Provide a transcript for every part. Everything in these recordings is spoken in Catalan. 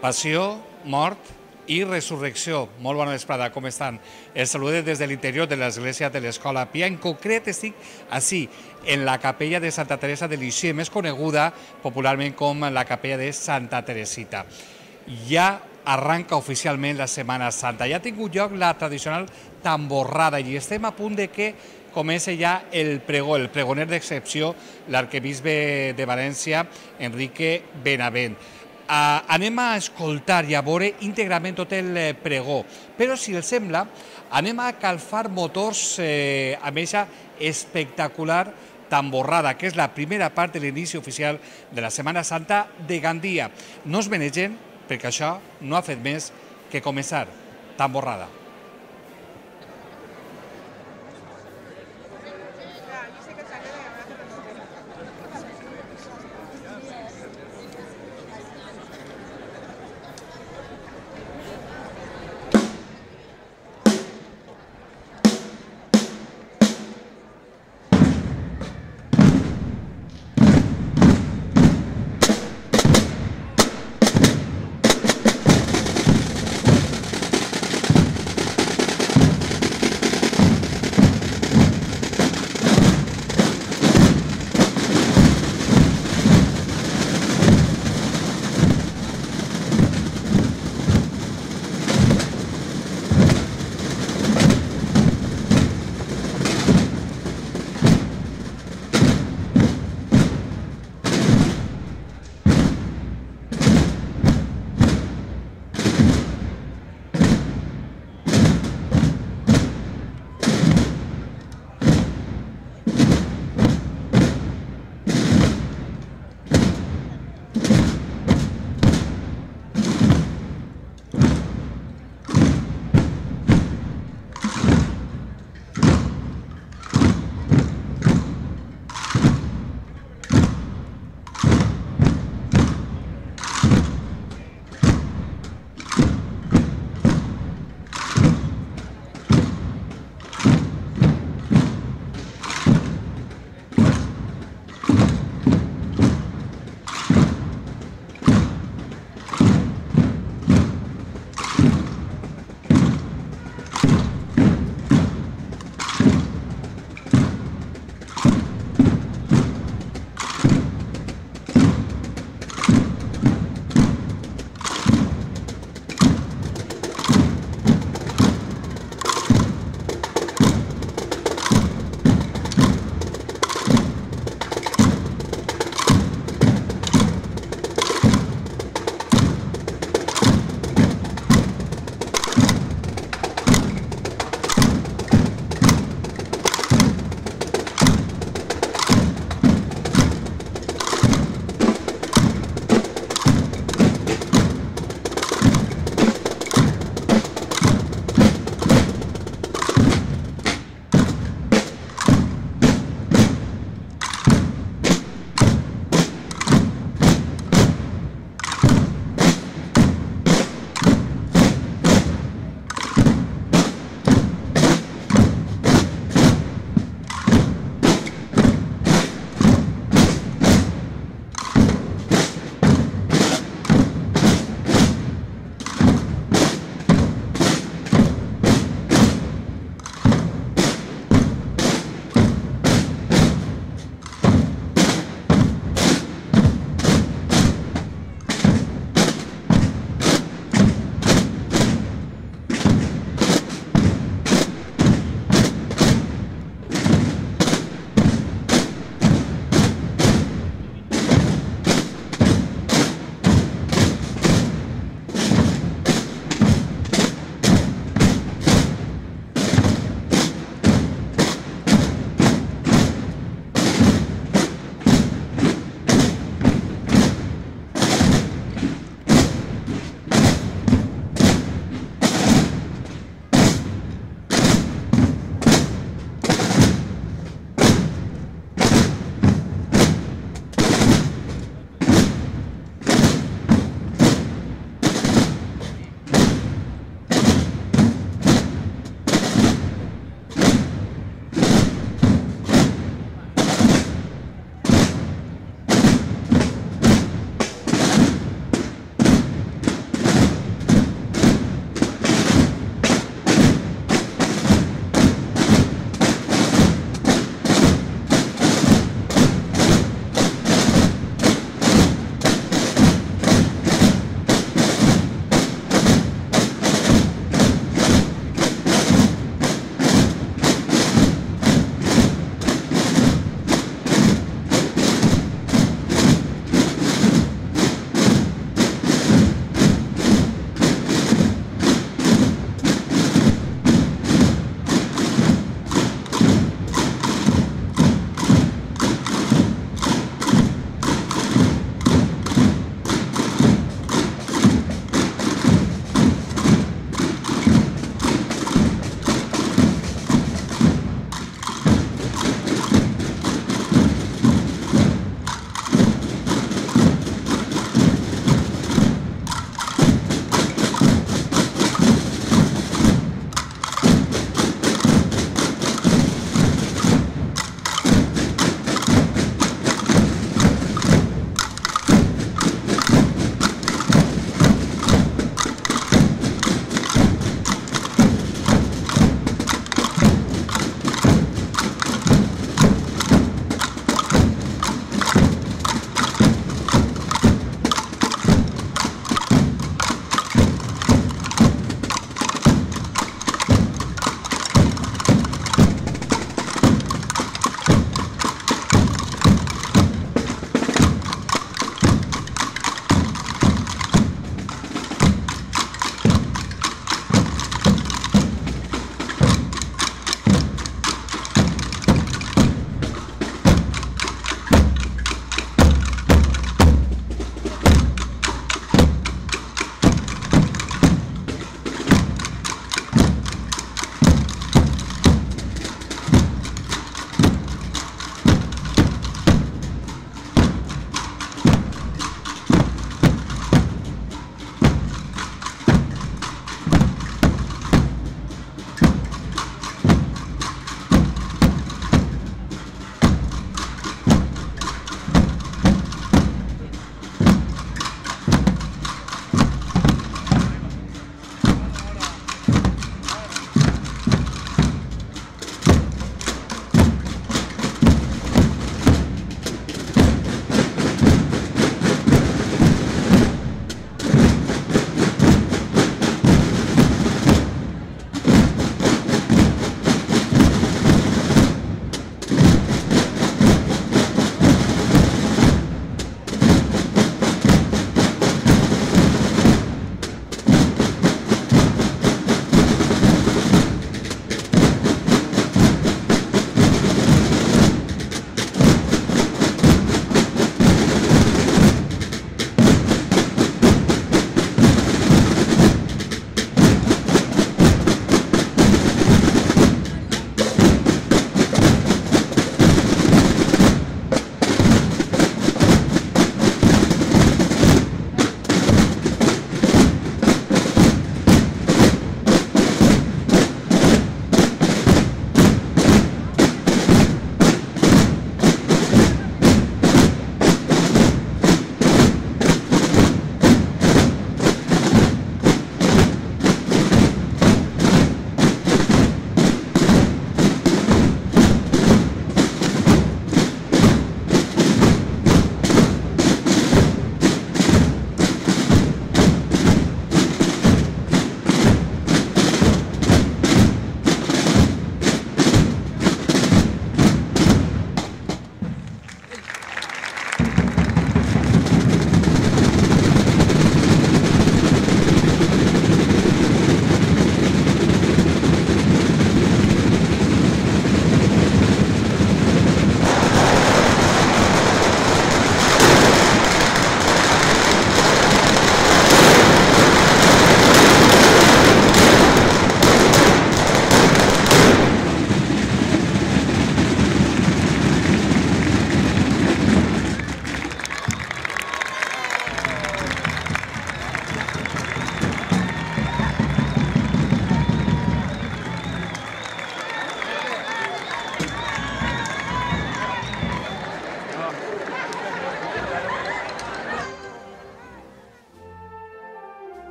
Passió, mort i resurrecció. Molt bona vesprada, com estan? Els salude des de l'interior de l'Església de l'Escola Pia. En concret estic així, en la capella de Santa Teresa de Lisieux, més coneguda popularment com la capella de Santa Teresita. Ja arranca oficialment la Setmana Santa. Ja ha tingut lloc la tradicional tamborrada i estem a punt de que comença ja el pregó, el pregoner d'excepció, l'arquebisbe de València, Enrique Benavent. Anem a escoltar i a veure íntegrament tot el pregó, però si els sembla anem a calfar motors amb aquesta espectacular tamborrada, que és la primera part de l'inici oficial de la Setmana Santa de Gandia. No es menegen, perquè això no ha fet més que començar. Tamborrada.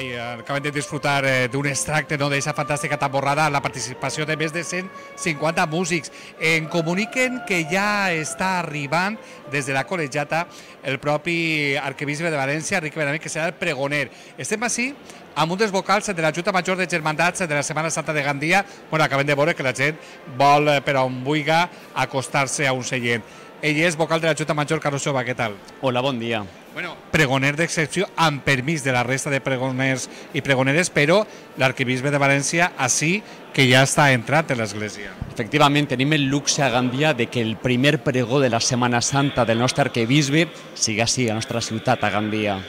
Acabem de disfrutar d'un extracte d'aquesta fantàstica tamborrada amb la participació de més de 150 músics. En comuniquen que ja està arribant des de la col·legiata el propi arquebisbe de València, Enrique Benavent, que serà el pregoner. Estem així amb un dels vocals de la Junta Major de Germandats de la Setmana Santa de Gandia. Bueno, acabem de veure que la gent vol, per on vulgui, acostar-se a un seient. Ell és vocal de la Junta Major, Carlos Jova, què tal? Hola, bon dia. Bueno, pregoner d'excepció, amb permís de la resta de pregoners i pregoneres, però l'arquebisbe de València, així que ja està entrant en l'església. Efectivament, tenim el luxe a Gandia de que el primer pregó de la Setmana Santa del nostre arquebisbe sigui així, a la nostra ciutat, a Gandia.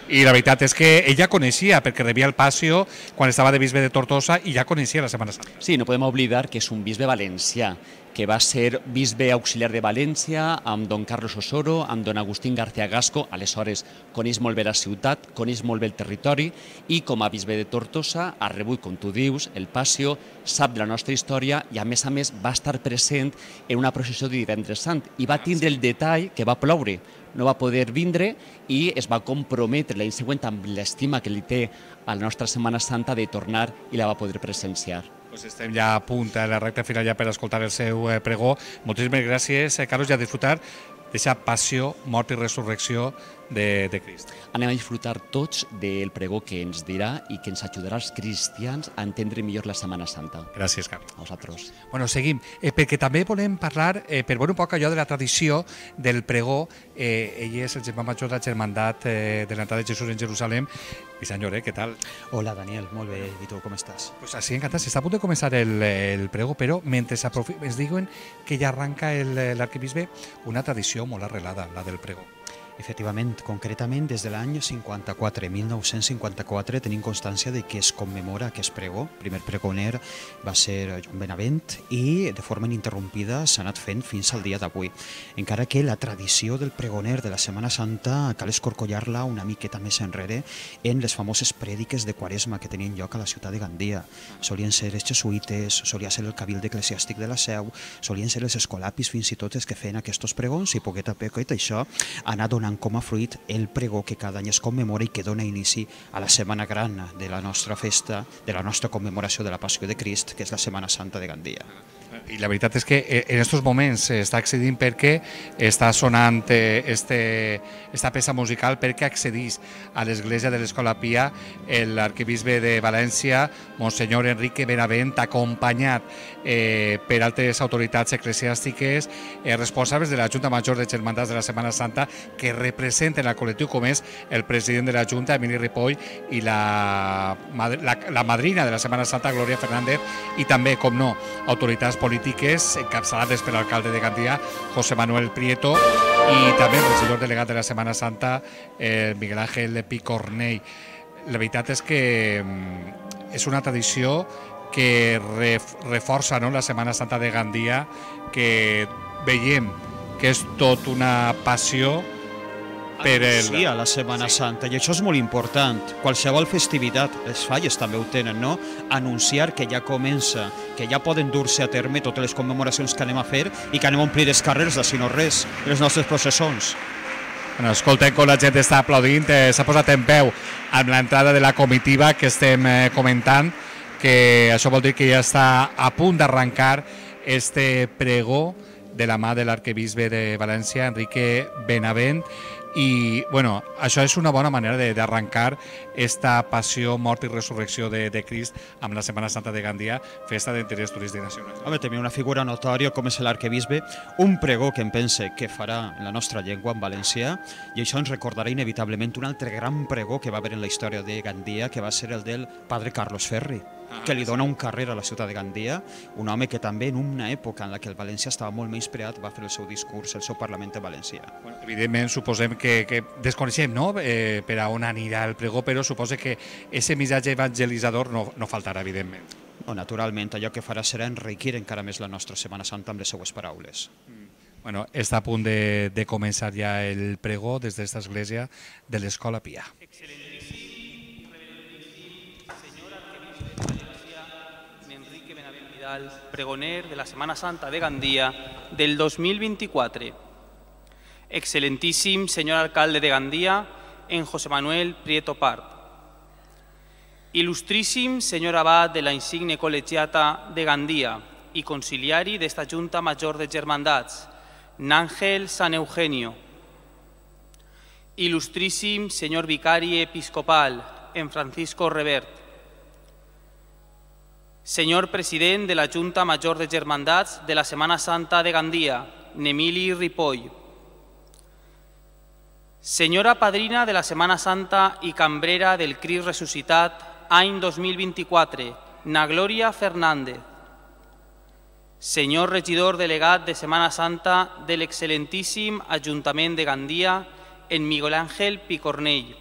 I la veritat és que ell ja coneixia, perquè rebia el Passio quan estava de bisbe de Tortosa i ja coneixia la Setmana Santa. Sí, no podem oblidar que és un bisbe valencià, que va ser bisbe auxiliar de València amb don Carlos Osoro, amb don Agustín García Gasco, aleshores coneix molt bé la ciutat, coneix molt bé el territori i com a bisbe de Tortosa ha rebut, com tu dius, el Passio, sap de la nostra història i a més va estar present en una processió de Divendres Sant i va tindre el detall que va ploure. No va poder vindre i es va comprometre l'any següent amb l'estima que li té a la nostra Setmana Santa de tornar i la va poder presenciar. Estem ja a punt, a la recta final ja per escoltar el seu pregó. Moltíssimes gràcies, Carlos, i a disfrutar d'aquesta passió, mort i resurrecció de Crist. Anem a disfrutar tots del pregó que ens dirà i que ens ajudarà als cristians a entendre millor la Setmana Santa. Gràcies, Carlos. A vosaltres. Bueno, seguim, perquè també volem parlar, per veure un poc allò de la tradició del pregó. Ell és el germà major de la Germandat de l'entrada de Jesús en Jerusalem. I senyor, què tal? Hola, Daniel, molt bé. I tu, com estàs? Pues així, encantat. S'està a punt de començar el pregó, però mentre es diuen que ja arranca l'arquebisbe una tradició molt arrelada, la del pregó. Efectivament, concretament des de l'any 1954 tenim constància de que es commemora aquest pregó. El primer pregoner va ser Joan Benavent i de forma ininterrompida s'ha anat fent fins al dia d'avui. Encara que la tradició del pregoner de la Setmana Santa cal escorcollar-la una miqueta més enrere en les famoses prèdiques de Quaresma que tenien lloc a la ciutat de Gandia. Solien ser els jesuïtes, solia ser el cabilde eclesiàstic de la Seu, solien ser els escolapis fins i tot els que feien aquests pregons i poquet a poquet això ha anat donant com a fruit el pregó que cada any es commemora i que dona inici a la Setmana Gran de la nostra festa, de la nostra commemoració de la Passió de Crist, que és la Setmana Santa de Gandia. I la veritat és que en aquests moments està accedint perquè està sonant esta peça musical perquè accedís a l'església de l'Escola Pia l'arquebisbe de València, Monsenyor Enrique Benavent, acompanyat per altres autoritats eclesiàstiques responsables de la Junta Major de Germandats de la Setmana Santa que representen el col·lectiu com és el president de la Junta, Emili Ripoll, i la madrina de la Setmana Santa, Glòria Fernández, i també, com no, autoritats polítiques encapçalades per l'alcalde de Gandia, José Manuel Prieto, i també el regidor delegat de la Setmana Santa, Miguel Ángel Picornell. La veritat és que és una tradició que reforça la Setmana Santa de Gandia, que veiem que és tot una passió per a la Setmana Santa, i això és molt important. Qualsevol festivitat, les falles també ho tenen, no? Anunciar que ja comença, que ja poden dur-se a terme totes les commemoracions que anem a fer i que anem a omplir els carrers, si no res, les nostres processons. Bueno, escoltem com la gent està aplaudint, s'ha posat en peu amb l'entrada de la comitiva que estem comentant, que això vol dir que ja està a punt d'arrencar este pregó de la mà de l'arquebisbe de València, Enrique Benavent, i bueno, això és una bona manera d'arrencar esta passió, mort i resurrecció de Crist amb la Setmana Santa de Gandia, festa d'interès turístic nacional. Home, també una figura notòria com és l'arquebisbe, un pregó que em pense que farà en la nostra llengua, en valencià, i això ens recordarà inevitablement un altre gran pregó que va haver en la història de Gandia, que va ser el del padre Carlos Ferri, que li dona un carrer a la ciutat de Gandia, un home que també en una època en la que el València estava molt menyspreat va fer el seu discurs, el seu Parlament valencià. Bueno, evidentment, suposem que desconeixem per a on anirà el pregó, però suposa que aquest missatge evangelitzador no faltarà, evidentment. Naturalment, allò que farà serà enriquir encara més la nostra Setmana Santa amb les seues paraules. Bueno, està a punt de començar ja el pregó des d'esta església de l'Escola Pia. Pregoner de la Semana Santa de Gandia del 2024. Excelentíssim senyor alcalde de Gandia, en José Manuel Prieto Part. Il·lustríssim senyor abat de la insigne col·legiata de Gandia i conciliari d'esta Junta Major de Germandats, Nángel San Eugenio. Il·lustríssim senyor vicari episcopal, en Francisco Revert. Senyor president de la Junta Major de Germandats de la Setmana Santa de Gandia, Nemili Ripoll. Senyora padrina de la Setmana Santa i cambrera del Crist Ressuscitat, any 2024, Na Glòria Fernández. Senyor regidor delegat de Setmana Santa de l'excel·lentíssim Ajuntament de Gandia, en Miguel Ángel Picornell.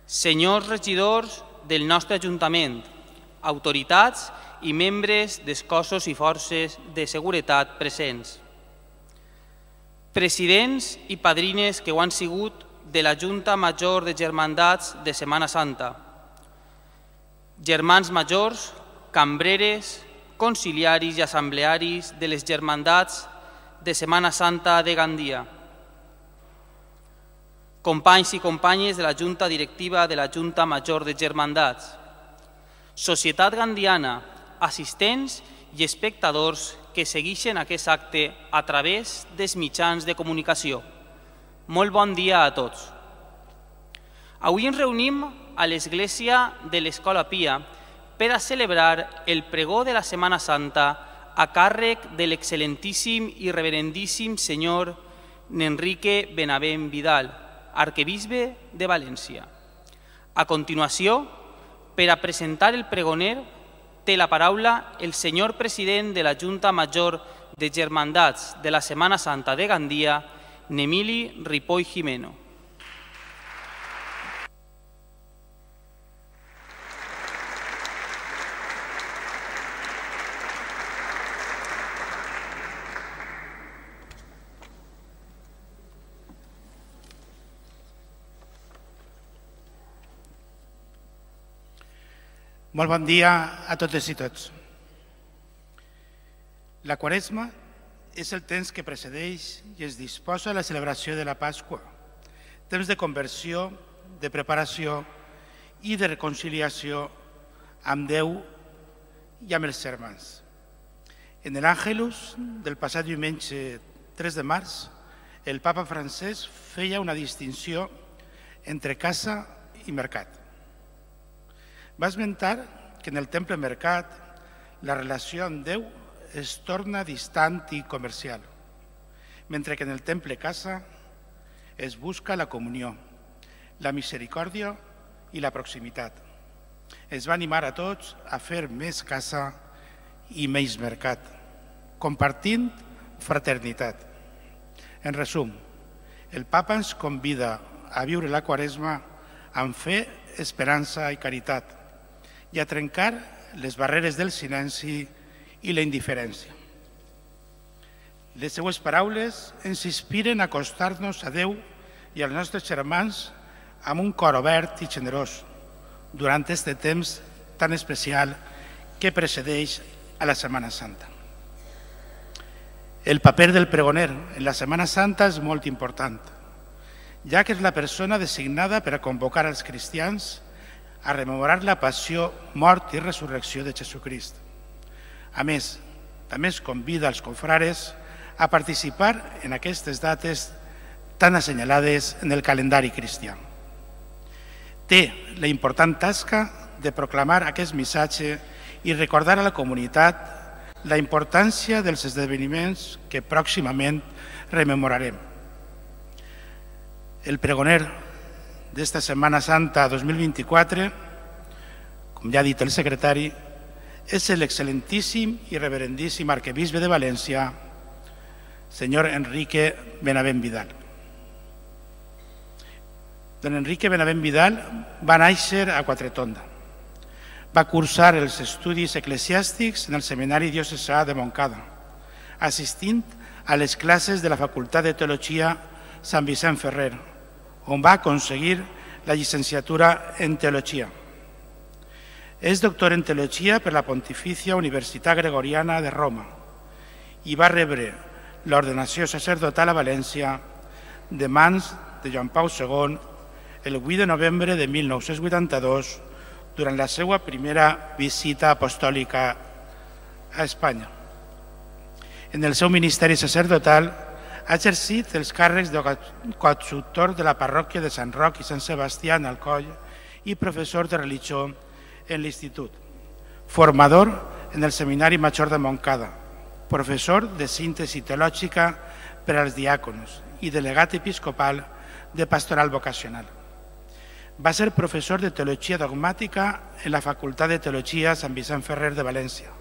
Senyors regidors del nostre Ajuntament, autoritats i membres dels cossos i forces de seguretat presents. Presidents i padrines que ho han sigut de la Junta Major de Germandats de Setmana Santa. Germans majors, cambreres, conciliaris i assemblearis de les Germandats de Setmana Santa de Gandia. Companys i companyes de la Junta Directiva de la Junta Major de Germandats. Societat gandiana, assistents i espectadors que segueixen aquest acte a través dels mitjans de comunicació. Molt bon dia a tots. Avui ens reunim a l'Església de l'Escola Pia per a celebrar el pregó de la Setmana Santa a càrrec de l'excel·lentíssim i reverendíssim senyor Enrique Benavent Vidal, arquebisbe de València. A continuació, per a presentar el pregoner, té la paraula el senyor president de la Junta Major de Germandats de la Setmana Santa de Gandia, Nemili Ripoll Jimeno. Molt bon dia a totes i tots. La Quaresma és el temps que precedeix i es disposa a la celebració de la Pasqua, temps de conversió, de preparació i de reconciliació amb Déu i amb els germans. En l'Àngelus del passat diumenge 3 de març, el papa Francesc feia una distinció entre casa i mercat. Va esmentar que en el temple mercat la relació amb Déu es torna distant i comercial, mentre que en el temple casa es busca la comunió, la misericòrdia i la proximitat. Es va animar a tots a fer més casa i menys mercat, compartint fraternitat. En resum, el papa ens convida a viure la Quaresma amb fe, esperança i caritat, i a trencar les barreres del silenci i la indiferència. Les seues paraules ens inspiren a acostar-nos a Déu i als nostres germans amb un cor obert i generós durant aquest temps tan especial que precedeix a la Setmana Santa. El paper del pregoner en la Setmana Santa és molt important, ja que és la persona designada per a convocar als cristians a rememorar la passió, mort i resurrecció de Jesucrist. A més, també es convida als confrares a participar en aquestes dates tan assenyalades en el calendari cristià. Té la important tasca de proclamar aquest missatge i recordar a la comunitat la importància dels esdeveniments que pròximament rememorarem. El pregoner d'esta Setmana Santa 2024, com ja ha dit el secretari, és l'excel·lentíssim i reverendíssim arquebisbe de València, senyor Enrique Benavent Vidal. Don Enrique Benavent Vidal va néixer a Quatretonda. Va cursar els estudis eclesiàstics en el Seminari Diocesà de Montcada, assistint a les classes de la Facultat de Teologia Sant Vicent Ferrer, on va aconseguir la llicenciatura en Teologia. És doctor en Teologia per la Pontificia Universitat Gregoriana de Roma i va rebre l'ordenació sacerdotal a València de mans de Joan Pau II el 8 de novembre de 1982 durant la seva primera visita apostòlica a Espanya. En el seu ministeri sacerdotal ha exercit els càrrecs de coadjutor de la parròquia de Sant Roc i Sant Sebastià en Alcoi i professor de religió en l'institut, formador en el Seminari Major de Montcada, professor de síntesi teològica per als diàconos i delegat episcopal de pastoral vocacional. Va ser professor de Teologia Dogmàtica en la Facultat de Teologia Sant Vicent Ferrer de València,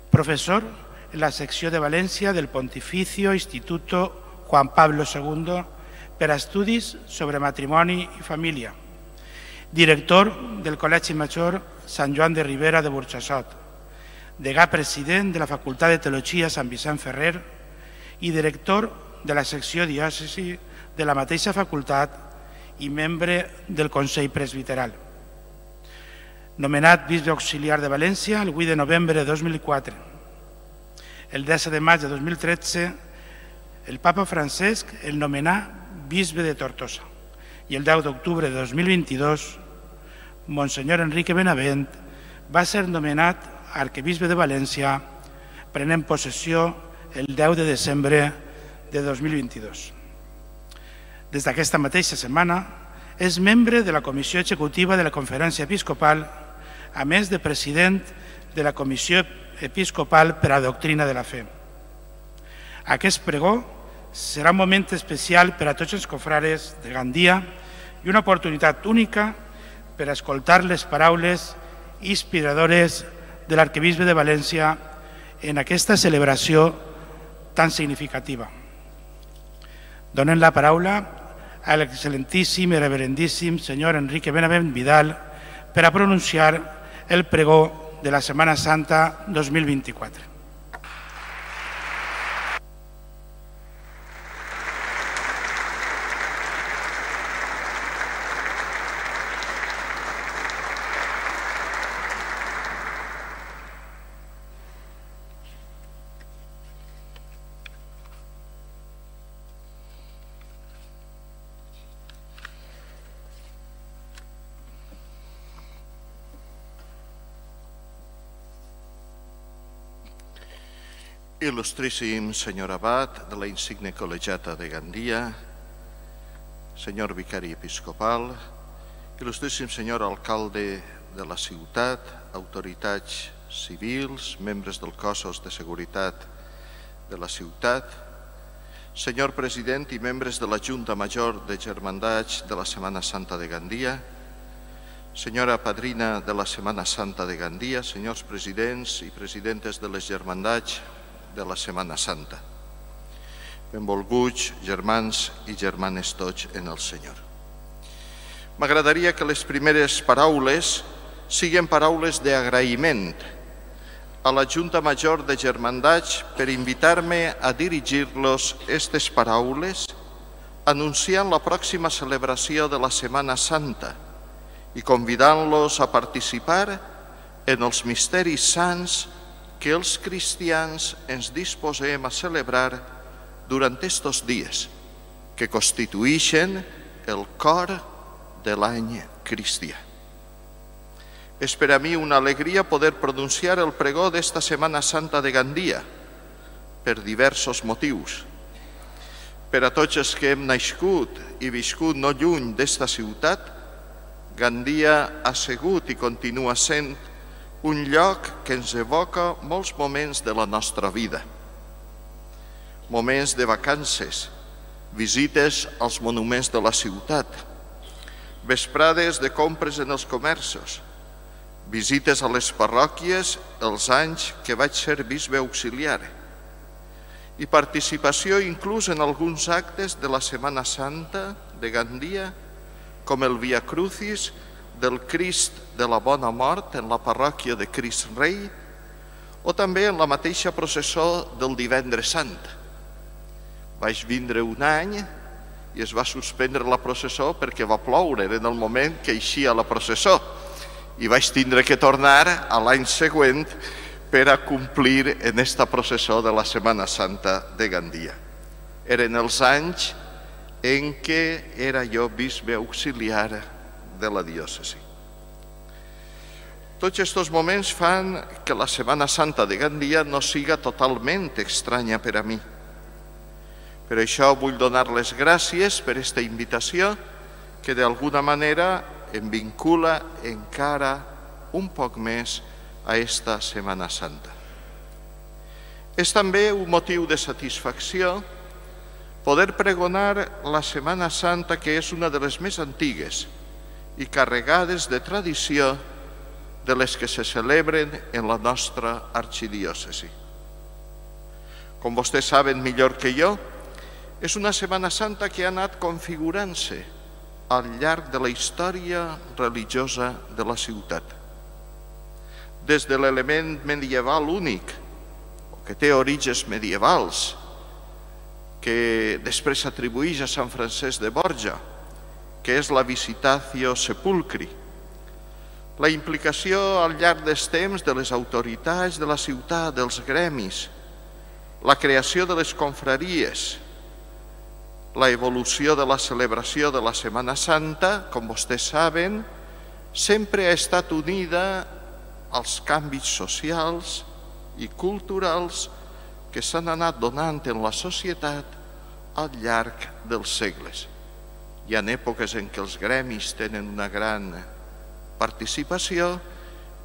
professor en la secció de València del Pontificio Instituto Juan Pablo II per a estudis sobre matrimoni i família, director del Col·legi Major Sant Joan de Ribera de Burjassot, degà president de la Facultat de Teologia Sant Vicent Ferrer i director de la secció diòcesi de la mateixa facultat i membre del Consell Presbiteral. Nomenat bisbe auxiliar de València el 8 de novembre de 2004. El 10 de maig de 2013, el papa Francesc el nomenà bisbe de Tortosa i el 10 d'octubre de 2022, Monsenyor Enrique Benavent va ser nomenat arquebisbe de València, prenent possessió el 10 de desembre de 2022. Des d'aquesta mateixa setmana és membre de la Comissió Executiva de la Conferència Episcopal, a més de president de la Comissió Episcopal per a Doctrina de la Fe. Aquest pregó serà un moment especial per a tots els confrares de Gandia i una oportunitat única per a escoltar les paraules inspiradores de l'arquebisbe de València en aquesta celebració tan significativa. Donen la paraula a l'excel·lentíssim i reverendíssim senyor Enrique Benavent Vidal per a pronunciar el pregó de la Setmana Santa 2024. Il·lustríssim senyor abat de la insigne col·legiata de Gandia, senyor vicari episcopal, il·lustríssim senyor alcalde de la ciutat, autoritats civils, membres dels cossos de seguretat de la ciutat, senyor president i membres de la Junta Major de Germandats de la Setmana Santa de Gandia, senyora padrina de la Setmana Santa de Gandia, senyors presidents i presidentes de les germandats de la Setmana Santa. Benvolguts germans i germanes tots en el Senyor. M'agradaria que les primeres paraules siguin paraules d'agraïment a la Junta Major de Germandats per invitar-me a dirigir-los aquestes paraules anunciant la pròxima celebració de la Setmana Santa i convidant-los a participar en els misteris sants que els cristians ens disposem a celebrar durant estos dies, que constitueixen el cor de l'any cristià. És per a mi una alegria poder pronunciar el pregó d'esta Setmana Santa de Gandia, per diversos motius. Per a tots els que hem nascut i viscut no lluny d'esta ciutat, Gandia ha sigut i continua sent un lloc que ens evoca molts moments de la nostra vida. Moments de vacances, visites als monuments de la ciutat, vesprades de compres en els comerços, visites a les parròquies els anys que vaig ser bisbe auxiliar i participació inclús en alguns actes de la Setmana Santa de Gandia, com el Via Crucis del Crist de la Bona Mort en la parròquia de Crist Rei o també en la mateixa processó del Divendres Sant. Vaig vindre un any i es va suspendre la processó perquè va ploure en el moment que eixia la processó i vaig tindre que tornar a l'any següent per a complir en esta processó de la Setmana Santa de Gandia. Eren els anys en què era jo bisbe auxiliar de la diòcesi. Tots aquests moments fan que la Setmana Santa de Gandia no siga totalment estranya per a mi. Per això vull donar les gràcies per aquesta invitació que d'alguna manera em vincula encara un poc més a esta Setmana Santa. És també un motiu de satisfacció poder pregonar la Setmana Santa, que és una de les més antigues i carregades de tradició de les que se celebren en la nostra arxidiòcesi. Com vostès saben millor que jo, és una Setmana Santa que ha anat configurant-se al llarg de la història religiosa de la ciutat. Des de l'element medieval únic, que té orígens medievals, que després s'atribueix a Sant Francesc de Borja, que és la Visitatio Sepulcri. La implicació al llarg dels temps de les autoritats de la ciutat, dels gremis, la creació de les confraries, la evolució de la celebració de la Setmana Santa, com vostès saben, sempre ha estat unida als canvis socials i culturals que s'han anat donant en la societat al llarg dels segles. Hi ha èpoques en què els gremis tenen una gran participació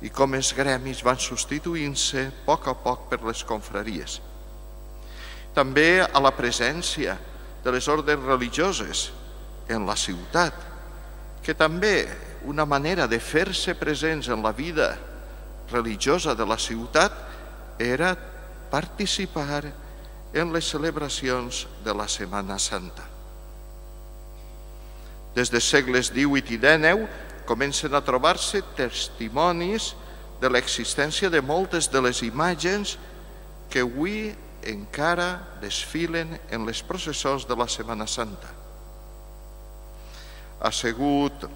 i com els gremis van substituint-se a poc per les confraries. També a la presència de les ordes religioses en la ciutat, que també una manera de fer-se presents en la vida religiosa de la ciutat era participar en les celebracions de la Setmana Santa. Des dels segles XVIII i XIX comencen a trobar-se testimonis de l'existència de moltes de les imatges que avui encara desfilen en les processons de la Setmana Santa. Ha sigut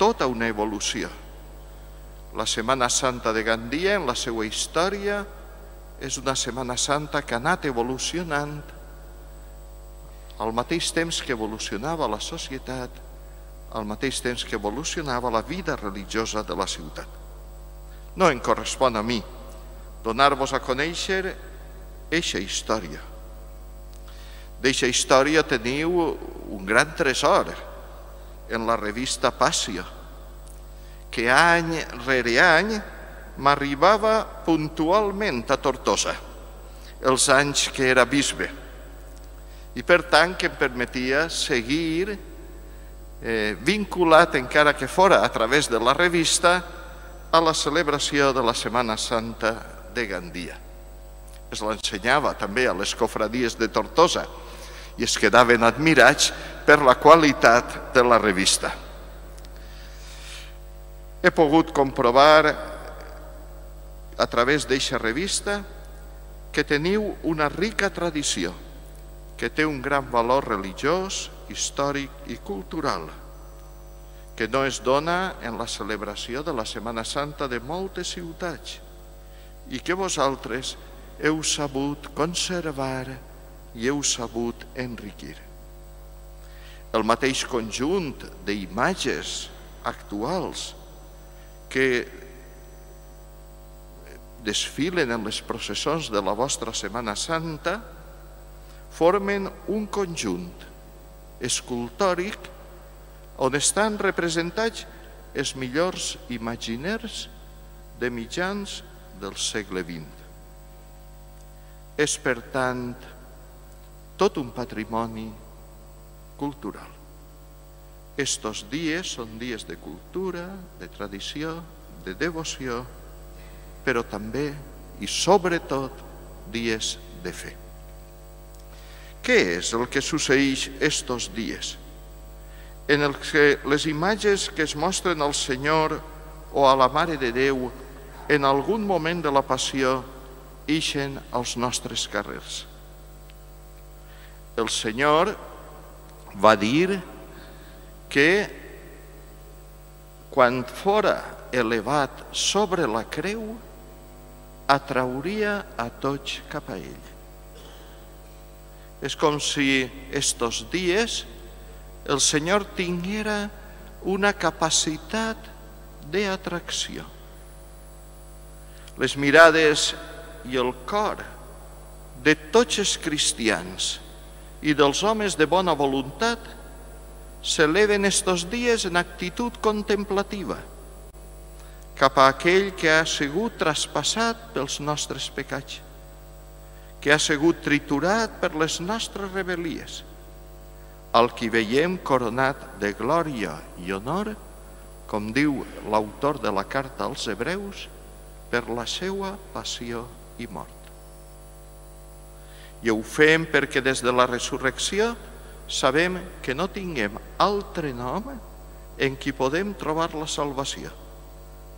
tota una evolució. La Setmana Santa de Gandia, en la seva història, és una Setmana Santa que ha anat evolucionant al mateix temps que evolucionava la societat, al mateix temps que evolucionava la vida religiosa de la ciutat. No em correspon a mi donar-vos a conèixer eixa història. D'eixa història teniu un gran tresor en la revista Passio, que any rere any m'arribava puntualment a Tortosa, els anys que era bisbe, i per tant que em permetia seguir vinculat, encara que fora a través de la revista, a la celebració de la Setmana Santa de Gandia. Es l'ensenyava també a les cofradies de Tortosa i es quedaven admirats per la qualitat de la revista. He pogut comprovar a través d'eixa revista que teniu una rica tradició, que té un gran valor religiós, històric i cultural, que no es dona en la celebració de la Setmana Santa de moltes ciutats i que vosaltres heu sabut conservar i heu sabut enriquir. El mateix conjunt d'imatges actuals que desfilen en les processons de la vostra Setmana Santa formen un conjunt escultòric on estan representats els millors imaginers de mitjans del segle XX. És, per tant, tot un patrimoni cultural. Estos dies són dies de cultura, de tradició, de devoció, però també i sobretot dies de fe. Què és el que succeeix estos dies? En el que les imatges que es mostren al Senyor o a la Mare de Déu en algun moment de la Passió ixen als nostres carrers. El Senyor va dir que quan fora elevat sobre la creu atrauria a tots cap a ell. És com si estos dies el Senyor tinguera una capacitat d'atracció, les mirades i el cor de tots els cristians i dels homes de bona voluntat s'eleven estos dies en actitud contemplativa cap a aquell que ha sigut traspassat pels nostres pecats, que ha sigut triturat per les nostres rebel·lies, al qui veiem coronat de glòria i honor, com diu l'autor de la carta als Hebreus, per la seva passió i mort. I ho fem perquè des de la resurrecció sabem que no tinguem altre nom en qui podem trobar la salvació,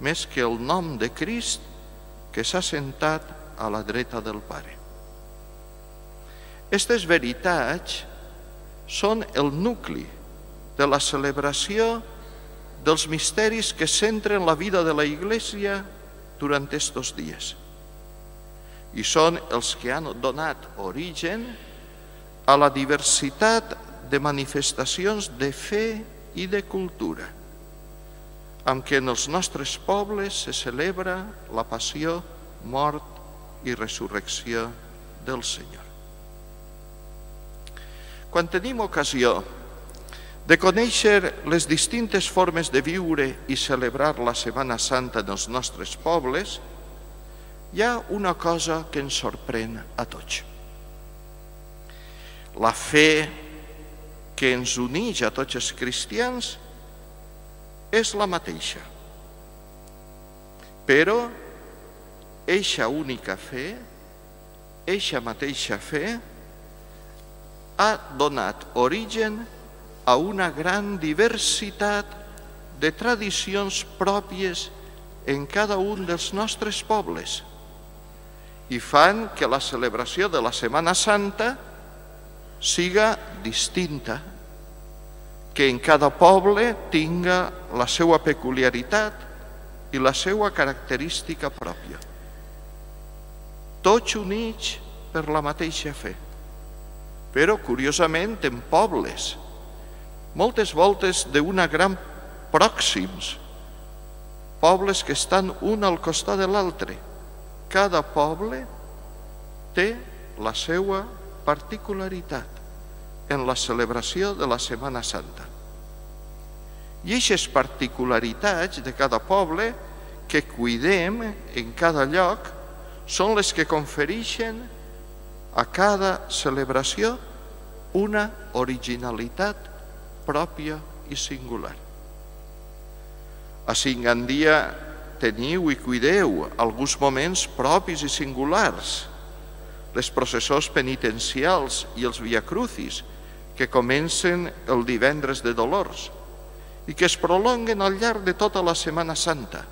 més que el nom de Crist que s'ha sentat a la dreta del Pare. Aquestes veritats són el nucli de la celebració dels misteris que centren la vida de la Iglesia durant estos dies. I són els que han donat origen a la diversitat de manifestacions de fe i de cultura, amb què en els nostres pobles se celebra la passió, mort i resurrecció del Senyor. Quan tenim ocasió de conèixer les distintes formes de viure i celebrar la Setmana Santa en els nostres pobles, hi ha una cosa que ens sorprèn a tots. La fe que ens uneix a tots els cristians és la mateixa. Però eixa única fe, eixa mateixa fe, ha donat origen a una gran diversitat de tradicions pròpies en cada un dels nostres pobles i fan que la celebració de la Setmana Santa siga distinta, que en cada poble tinga la seva peculiaritat i la seva característica pròpia. Tots units per la mateixa fe, però curiosament en pobles, moltes voltes d'una gran pròxims, pobles que estan un al costat de l'altre. Cada poble té la seva particularitat en la celebració de la Setmana Santa. I aquestes particularitats de cada poble que cuidem en cada lloc són les que confereixen a cada celebració una originalitat pròpia i singular. A Cingandia teniu i cuideu alguns moments propis i singulars, les processors penitencials i els viacrucis que comencen el divendres de Dolors i que es prolonguen al llarg de tota la Setmana Santa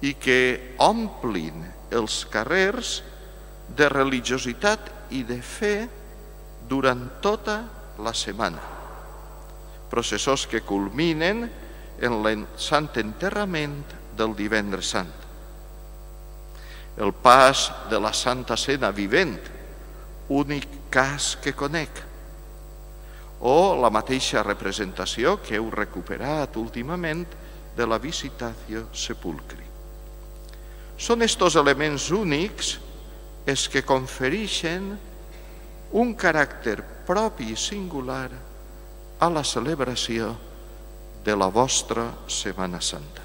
i que omplin els carrers de religiositat i de fe durant tota la setmana. Processors que culminen en el Sant Enterrament del Divendres Sant. El pas de la Santa Cena vivent, únic cas que conec, o la mateixa representació que heu recuperat últimament de la Visitatio Sepulcri. Són estos elements únics els que confereixen un caràcter propi i singular a la celebració de la vostra Setmana Santa.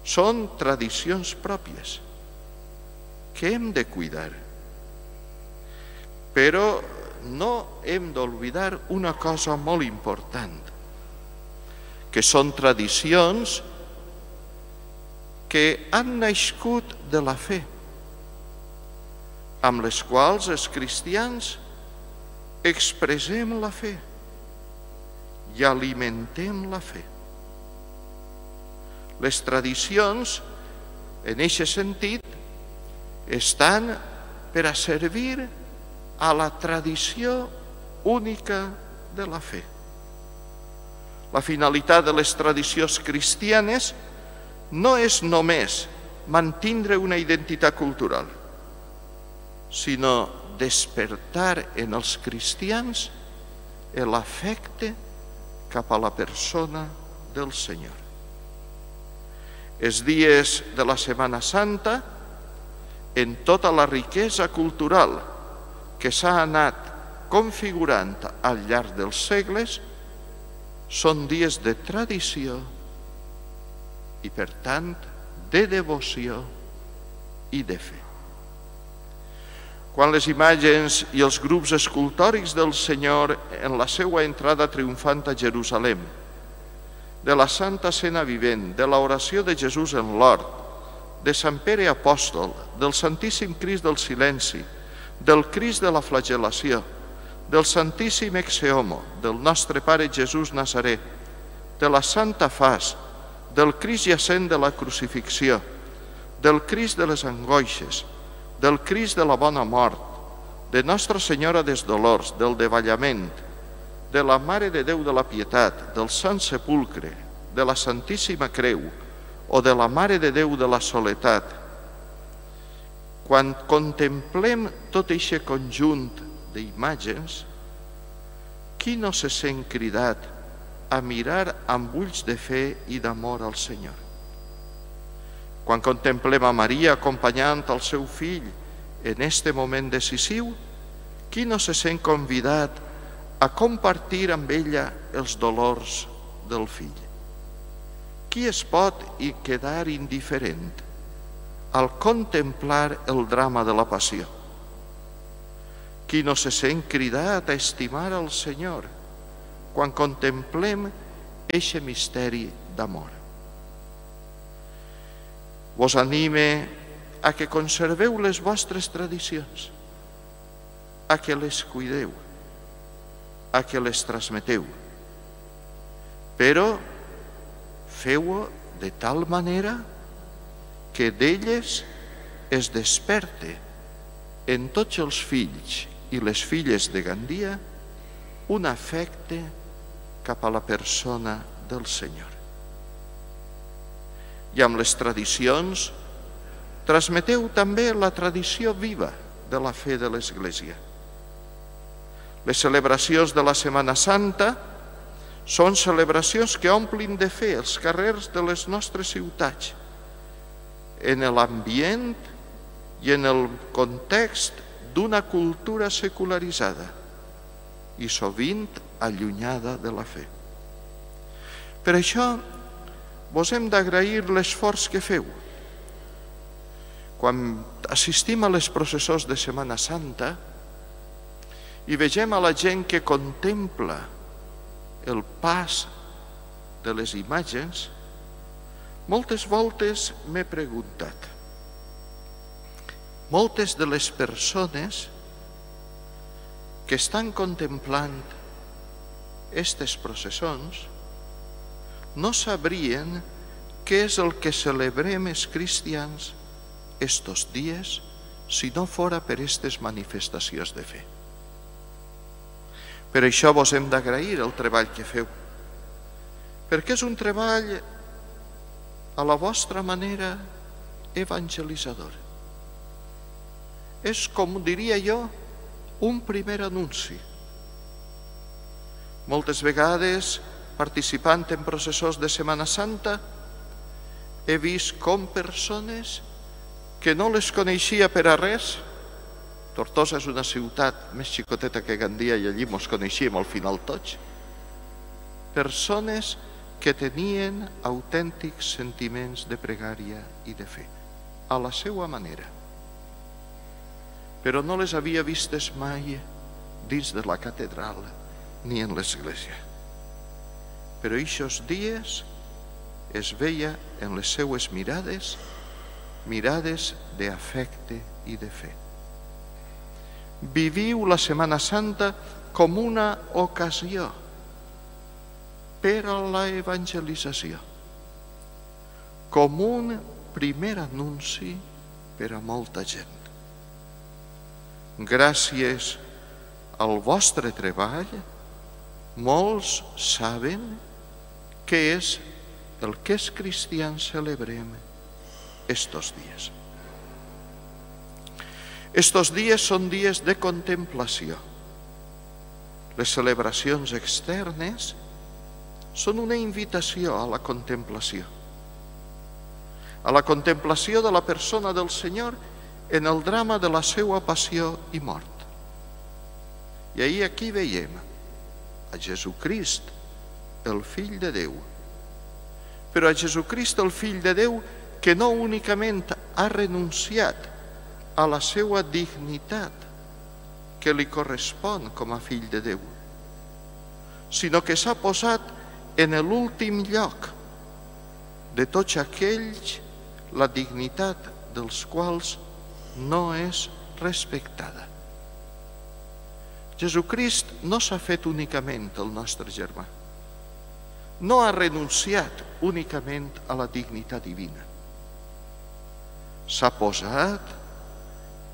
Són tradicions pròpies que hem de cuidar, però no hem d'oblidar una cosa molt important, que són tradicions que han nascut de la fe, amb les quals els cristians expressem la fe i alimentem la fe. Les tradicions, en aquest sentit, estan per a servir a la tradició única de la fe. La finalitat de les tradicions cristianes no és només mantindre una identitat cultural, sinó despertar en els cristians l'afecte cap a la persona del Senyor. Els dies de la Setmana Santa, en tota la riquesa cultural que s'ha anat configurant al llarg dels segles, són dies de tradició i, per tant, de devoció i de fe. Quan les imatges i els grups escultòrics del Senyor en la seva entrada triomfant a Jerusalem, de la Santa Cena Vivent, de l'oració de Jesús en l'hort, de Sant Pere Apòstol, del Santíssim Crist del Silenci, del Crist de la Flagel·lació, del Santíssim Exe Homo, del nostre Pare Jesús Nazaré, de la Santa Fas, del Crist jacent de la Crucifixió, del Crist de les Angoixes, del Crist de la Bona Mort, de Nostra Senyora dels Dolors, del Davallament, de la Mare de Déu de la Pietat, del Sant Sepulcre, de la Santíssima Creu o de la Mare de Déu de la Soledat. Quan contemplem tot aquest conjunt d'imatges, qui no se sent cridat a mirar amb ulls de fe i d'amor al Senyor? Quan contemplem a Maria acompanyant el seu fill en este moment decisiu, qui no se sent convidat a compartir amb ella els dolors del fill? Qui es pot quedar indiferent al contemplar el drama de la passió? Qui no se sent cridat a estimar el Senyor quan contemplem eixe misteri d'amor? Vos anime a que conserveu les vostres tradicions, a que les cuideu, a que les transmeteu, però feu-ho de tal manera que d'elles es desperte en tots els fills i les filles de Gandia un afecte cap a la persona del Senyor. I amb les tradicions transmeteu també la tradició viva de la fe de l'Església. Les celebracions de la Setmana Santa són celebracions que omplin de fe els carrers de les nostres ciutats, en l'ambient i en el context d'una cultura secularitzada i sovint allunyada de la fe. Per això vos hem d'agrair l'esforç que feu. Quan assistim a les processons de Setmana Santa i vegem a la gent que contempla el pas de les imatges, moltes voltes m'he preguntat, moltes de les persones que estan contemplant aquestes processons no sabrien què és el que celebrem els cristians estos dies si no fora per aquestes manifestacions de fe. Per això vos hem d'agrair el treball que feu, perquè és un treball a la vostra manera evangelitzador. És, com diria jo, un primer anunci. Moltes vegades, participant en processons de Setmana Santa, he vist com persones que no les coneixia per a res. Tortosa és una ciutat més xicoteta que Gandia i allí mos coneixíem al final tots. Persones que tenien autèntics sentiments de pregària i de fe, a la seva manera. Però no les havia vistes mai dins de la catedral ni en l'església. Però aquests dies es veia en les seues mirades, mirades d'afecte i de fe. Viviu la Setmana Santa com una ocasió per a la evangelització, com un primer anunci per a molta gent. Gràcies al vostre treball, molts saben què és el que els cristians celebrem estos dies. Estos dies són dies de contemplació. Les celebracions externes són una invitació a la contemplació. a la contemplació de la persona del Senyor en el drama de la seva passió i mort. I ahir aquí veiem a Jesucrist, el Fill de Déu, però a Jesucrist, el Fill de Déu, que no únicament ha renunciat a la seva dignitat que li correspon com a Fill de Déu, sinó que s'ha posat en l'últim lloc de tots aquells la dignitat dels quals no és respectada. Jesucrist no s'ha fet únicament el nostre germà, no ha renunciat únicament a la dignitat divina. S'ha posat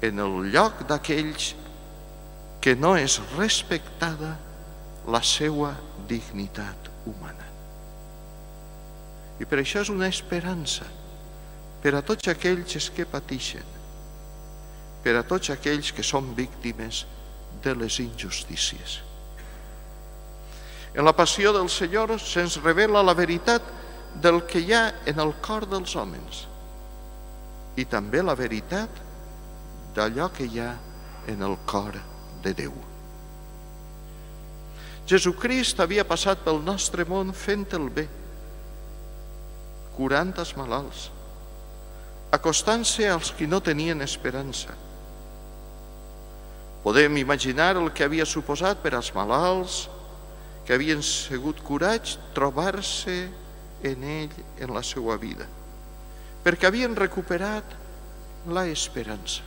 en el lloc d'aquells que no és respectada la seva dignitat humana. I per això és una esperança per a tots aquells que pateixen, per a tots aquells que són víctimes de les injustícies. En la passió del Senyor se'ns revela la veritat del que hi ha en el cor dels homes i també la veritat d'allò que hi ha en el cor de Déu. Jesucrist havia passat pel nostre món fent el bé, curant els malalts, acostant-se als qui no tenien esperança. Podem imaginar el que havia suposat per als malalts que havien sigut curats trobar-se en ell en la seva vida, perquè havien recuperat la esperança.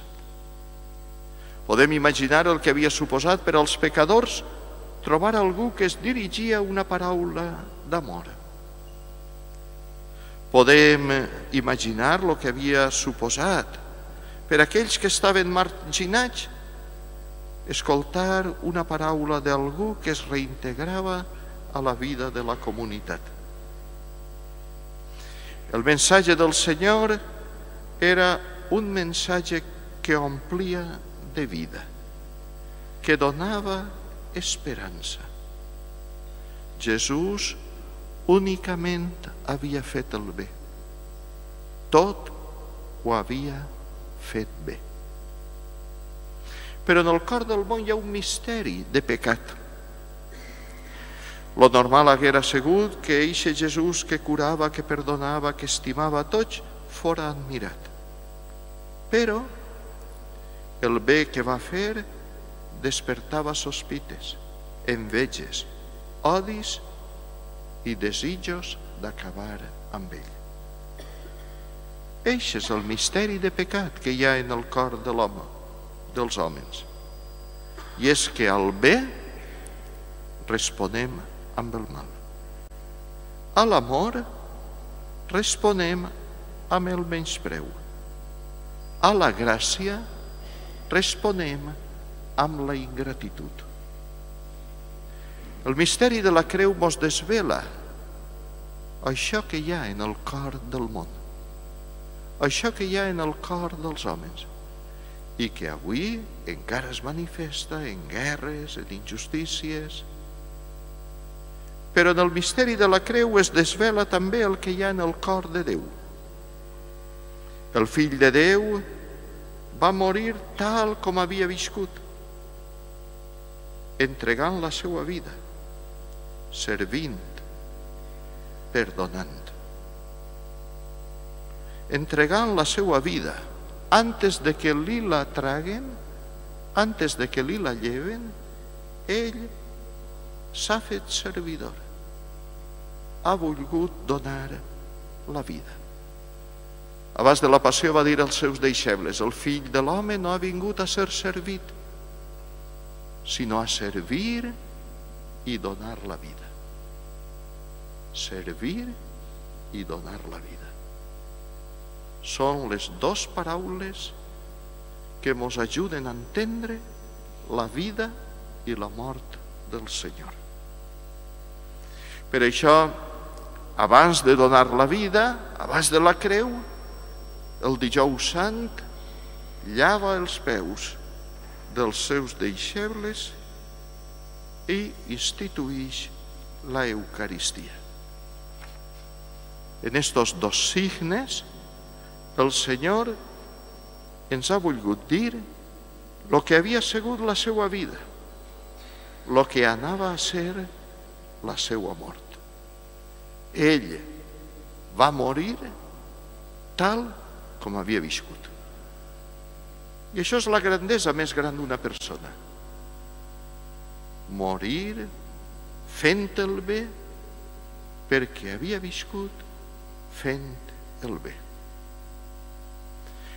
Podem imaginar el que havia suposat per als pecadors trobar algú que es dirigia una paraula d'amor. Podem imaginar el que havia suposat per a aquells que estaven marginats escoltar una paraula d'algú que es reintegrava a la vida de la comunitat. El missatge del Senyor era un missatge que omplia de vida, que donava esperança. Jesús únicament havia fet el bé. Tot ho havia fet bé. Però en el cor del món hi ha un misteri de pecat. Lo normal haguera sigut que eixe Jesús que curava, que perdonava, que estimava a tots, fora admirat. Però el bé que va fer despertava sospites, enveges, odis i desitjos d'acabar amb ell. Eixe és el misteri de pecat que hi ha en el cor de l'home, dels homes. I és que al bé responem amb el mal. A l'amor responem amb el menyspreu. A la gràcia responem amb la ingratitud. El misteri de la creu mos desvela això que hi ha en el cor del món, això que hi ha en el cor dels homes i que avui encara es manifesta en guerres, en injustícies. Però en el misteri de la creu es desvela també el que hi ha en el cor de Déu. El Fill de Déu va morir tal com havia viscut, entregant la seva vida, servint, perdonant. Entregant la seva vida, antes de que li la traguen, antes de que li la lleven, ell s'ha fet servidor. Ha volgut donar la vida. Abans de la passió va dir als seus deixebles: el Fill de l'home no ha vingut a ser servit, sinó a servir i donar la vida. Servir i donar la vida. Són les dues paraules que ens ajuden a entendre la vida i la mort del Senyor. Per això, abans de donar la vida, abans de la creu, el dijous sant llava els peus dels seus deixebles i instituïx la Eucaristia. En estos dos signes el Senyor ens ha volgut dir el que havia sigut la seva vida, el que anava a ser la seva mort. Ell va morir tal com havia viscut. I això és la grandesa més gran d'una persona. Morir fent el bé perquè havia viscut fent el bé.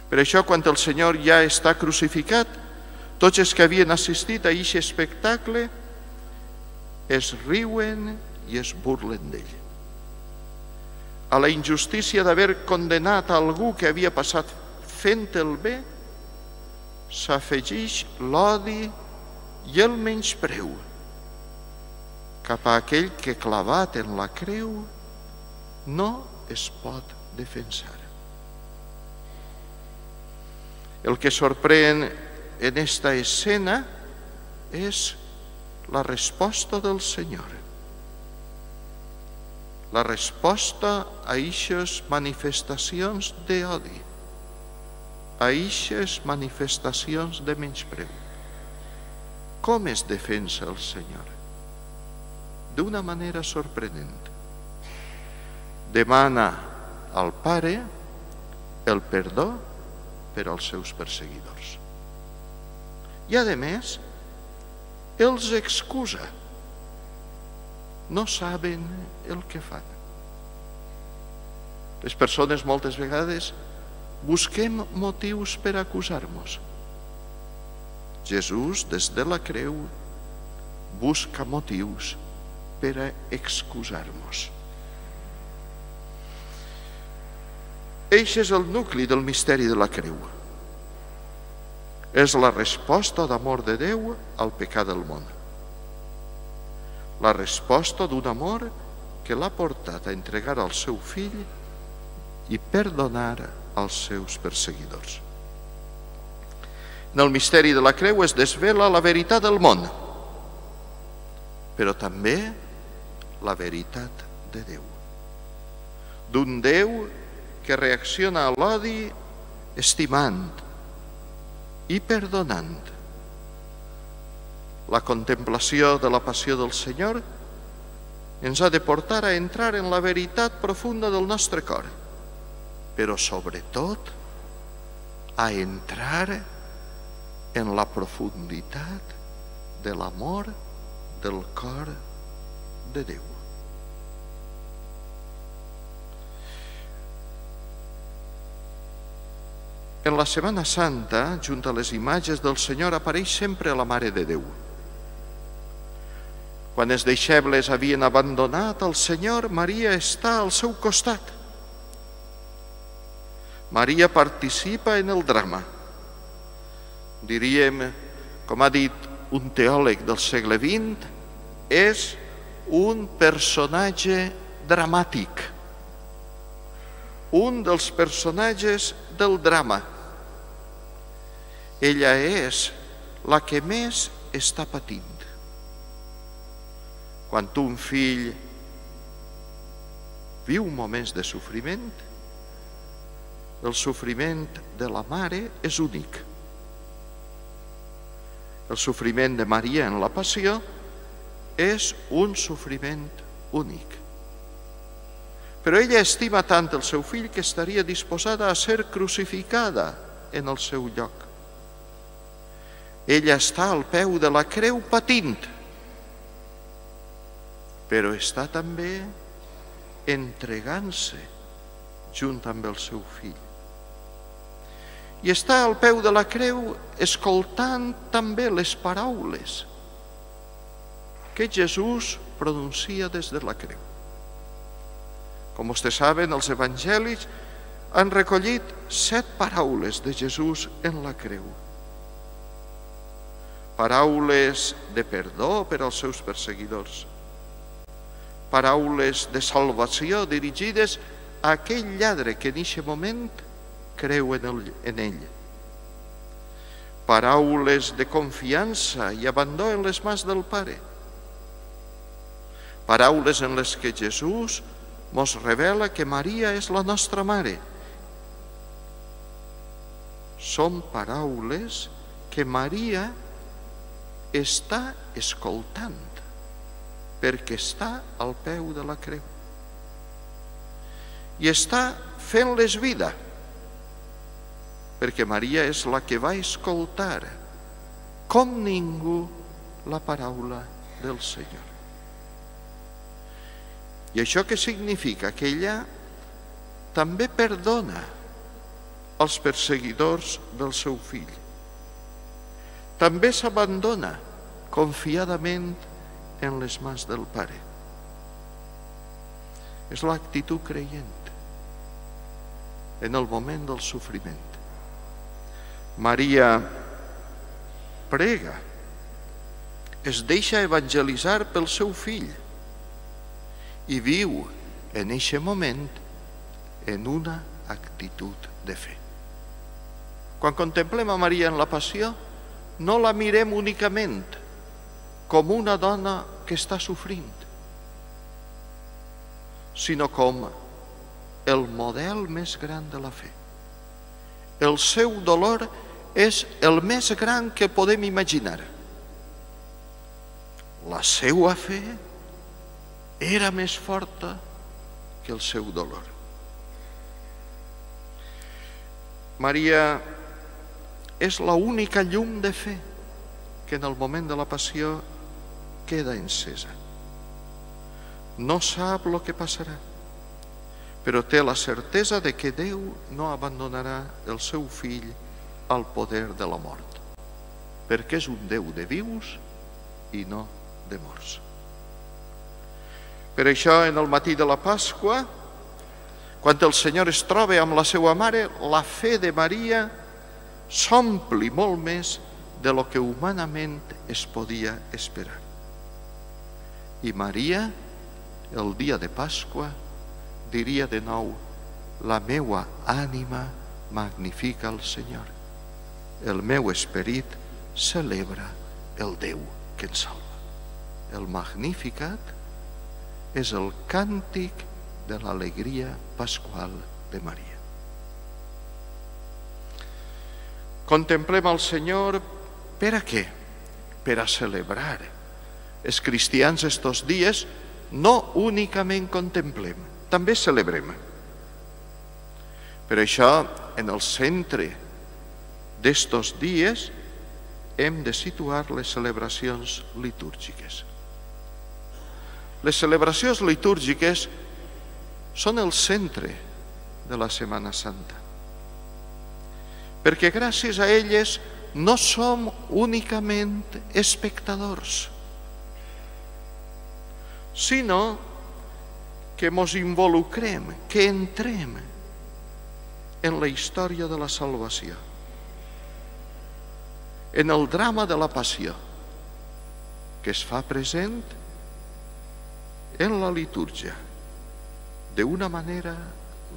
Per això, quan el Senyor ja està crucificat, tots els que havien assistit a aquest espectacle es riuen i es burlen d'ell. A la injustícia d'haver condenat a algú que havia passat fent el bé, s'afegeix l'odi i el menyspreu cap a aquell que clavat en la creu no es pot defensar. El que sorprèn en esta escena és la resposta del Senyor. La resposta a aquestes manifestacions d'odi, a aquestes manifestacions de menyspreu. Com es defensa el Senyor? D'una manera sorprenent. Demana al Pare el perdó per als seus perseguidors. I, a més, els excusa. No saben el que fan. Les persones moltes vegades busquem motius per acusar-nos. Jesús, des de la creu, busca motius per a excusar-nos. Eixe és el nucli del misteri de la creu. És la resposta d'amor de Déu al pecat del món. La resposta d'un amor que l'ha portat a entregar al seu fill i perdonar als seus perseguidors. En el misteri de la creu es desvela la veritat del món, però també la veritat de Déu. D'un Déu que reacciona a l'odi estimant i perdonant. La contemplació de la passió del Senyor ens ha de portar a entrar en la veritat profunda del nostre cor, però sobretot a entrar en la profunditat de l'amor del cor de Déu. En la Setmana Santa, junt a les imatges del Senyor, apareix sempre la Mare de Déu. Quan els deixebles havien abandonat el Senyor, Maria està al seu costat. Maria participa en el drama. Diríem, com ha dit un teòleg del segle XX, és un personatge dramàtic. Un dels personatges del drama. Ella és la que més està patint. Quan un fill viu moments de sofriment, el sofriment de la mare és únic. El sofriment de Maria en la passió és un sofriment únic. Però ella estima tant el seu fill que estaria disposada a ser crucificada en el seu lloc. Ella està al peu de la creu patint, però està també entregant-se junt amb el seu fill. I està al peu de la creu escoltant també les paraules que Jesús pronuncia des de la creu. Com vostès saben, els evangelis han recollit 7 paraules de Jesús en la creu. Paraules de perdó per als seus perseguidors. Paraules de salvació dirigides a aquell lladre que en aquest moment creu en ell. Paraules de confiança i abandó en les mans del Pare. Paraules en les que Jesús mos revela que Maria és la nostra mare són paraules que Maria està escoltant, perquè està al peu de la creu. I està fent-les vida, perquè Maria és la que va escoltar com ningú la paraula del Senyor. I això què significa? Que ella també perdona als perseguidors del seu fill. També s'abandona confiadament en les mans del Pare. És l'actitud creient en el moment del sofriment. Maria prega, es deixa evangelitzar pel seu fill i viu en aquest moment en una actitud de fe. Quan contemplem a Maria en la passió, no la mirem únicament com una dona que està sofrint, sinó com el model més gran de la fe. El seu dolor és el més gran que podem imaginar. La seva fe era més forta que el seu dolor. Maria és l'única llum de fe que en el moment de la passió queda encesa. No sap el que passarà, però té la certesa de que Déu no abandonarà el seu fill al poder de la mort, perquè és un Déu de vius i no de morts. Per això, en el matí de la Pasqua, quan el Senyor es troba amb la seva mare, la fe de Maria s'ompli molt més de lo que humanament es podia esperar. I Maria, el dia de Pasqua, diria de nou: la meua ànima magnifica el Senyor. El meu esperit celebra el Déu que ens salva. El Magnificat és el càntic de l'alegria pasqual de Maria. Contemplem el Senyor per a què? Per a celebrar. Els cristians estos dies no únicament contemplem, també celebrem. Per això, en el centre d'estos dies hem de situar les celebracions litúrgiques. Les celebracions litúrgiques són el centre de la Setmana Santa, perquè gràcies a elles no som únicament espectadors, sinó que ens involucrem, que entrem en la història de la salvació, en el drama de la passió, que es fa present en la litúrgia, d'una manera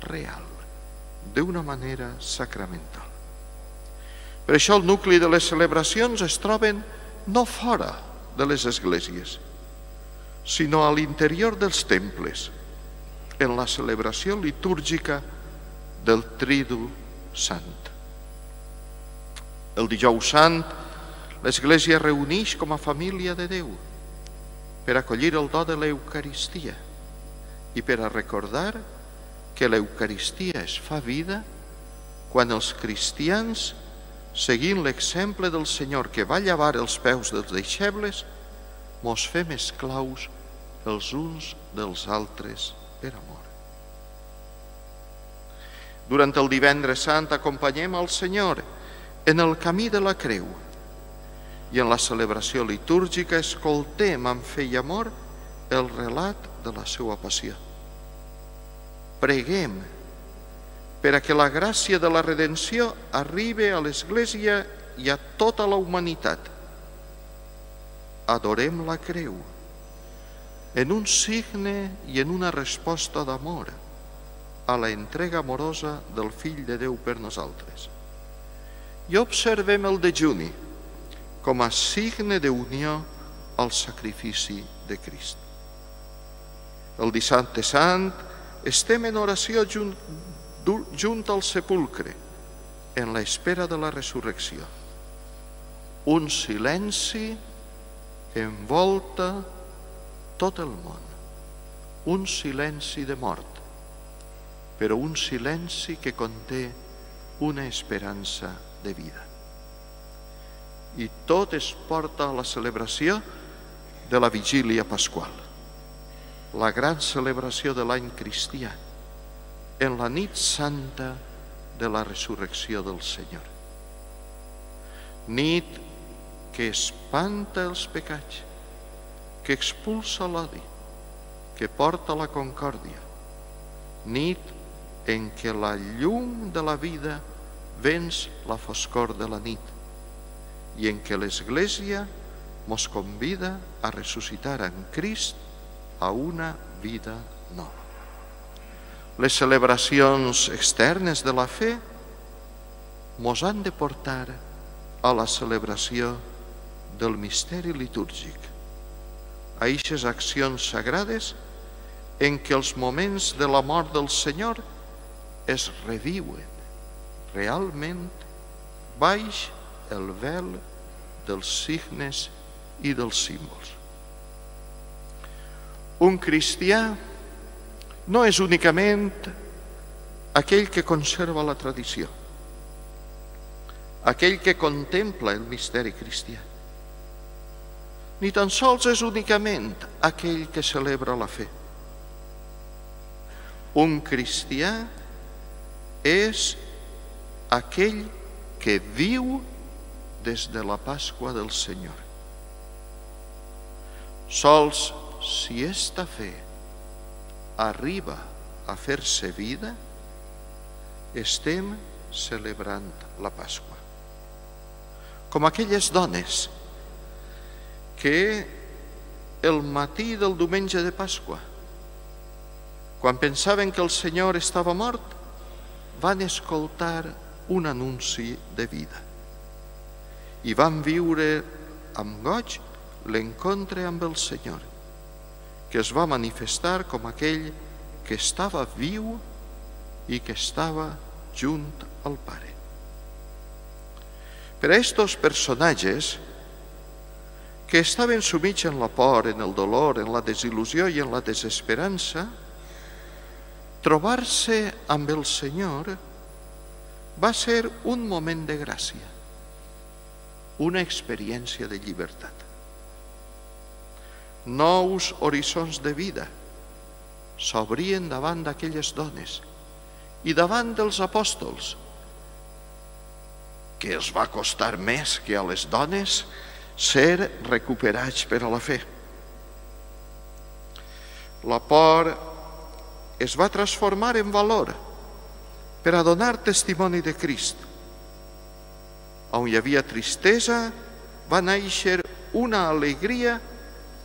real, d'una manera sacramental. Per això el nucli de les celebracions es troben no fora de les esglésies, sinó a l'interior dels temples, en la celebració litúrgica del Tridu Sant. El Dijous Sant, l'Església reuneix com a família de Déu per acollir el do de l'Eucaristia i per a recordar que l'Eucaristia es fa vida quan els cristians, seguint l'exemple del Senyor que va llavar els peus dels deixebles, mos fem esclaus els uns dels altres per amor. Durant el Divendres Sant acompanyem al Senyor en el camí de la creu i en la celebració litúrgica escoltem amb fe i amor el relat de la seva passió. Preguem per a que la gràcia de la redenció arribi a l'Església i a tota la humanitat. Adorem la creu en un signe i en una resposta d'amor a la entrega amorosa del Fill de Déu per nosaltres. I observem el dejuni com a signe d'unió al sacrifici de Crist. El Dissabte Sant estem en oració junt al sepulcre, en l'espera de la resurrecció. Un silenci envolta tot el món. Un silenci de mort, però un silenci que conté una esperança de vida. I tot es porta a la celebració de la vigília pasqual, la gran celebració de l'any cristià, en la nit santa de la resurrecció del Senyor. Nit que espanta els pecats, que expulsa l'odi, que porta la concòrdia. Nit en què la llum de la vida venç la foscor de la nit i en què l'Església mos convida a ressuscitar en Crist a una vida nova. Les celebracions externes de la fe mos han de portar a la celebració del misteri litúrgic, a eixes accions sagrades en què els moments de la mort del Senyor es reviuen realment baix el vel dels signes i dels símbols. Un cristià no és únicament aquell que conserva la tradició, aquell que contempla el misteri cristià, ni tan sols és únicament aquell que celebra la fe. Un cristià és aquell que viu des de la Pasqua del Senyor. Sols si esta fe arriba a fer-se vida, estem celebrant la Pasqua. Com aquelles dones que el matí del diumenge de Pasqua, quan pensaven que el Senyor estava mort, van escoltar un anunci de vida i van viure amb goig l'encontre amb el Senyor, que es va manifestar com aquell que estava viu i que estava junt al Pare. Per a estos personatges que estaven sumits en la por, en el dolor, en la desil·lusió i en la desesperança, trobar-se amb el Senyor va ser un moment de gràcia, una experiència de llibertat. Nous horitzons de vida s'obrien davant d'aquelles dones i davant dels apòstols, que els va costar més que a les dones ser recuperats per a la fe. La por es va transformar en valor per a donar testimoni de Crist. On hi havia tristesa, va néixer una alegria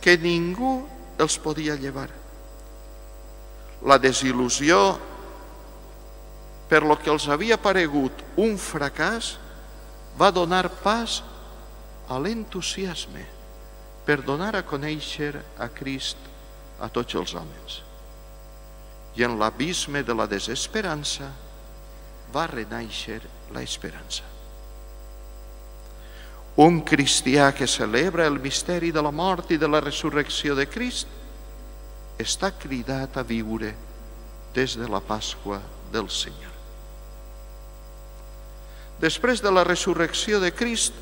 que ningú els podia llevar. La desil·lusió per lo que els havia paregut un fracàs va donar pas a l'entusiasme per donar a conèixer a Crist a tots els homes. I en l'abisme de la desesperança va renéixer l'esperança. Un cristià que celebra el misteri de la mort i de la resurrecció de Crist està cridat a viure des de la Pasqua del Senyor. Després de la resurrecció de Crist,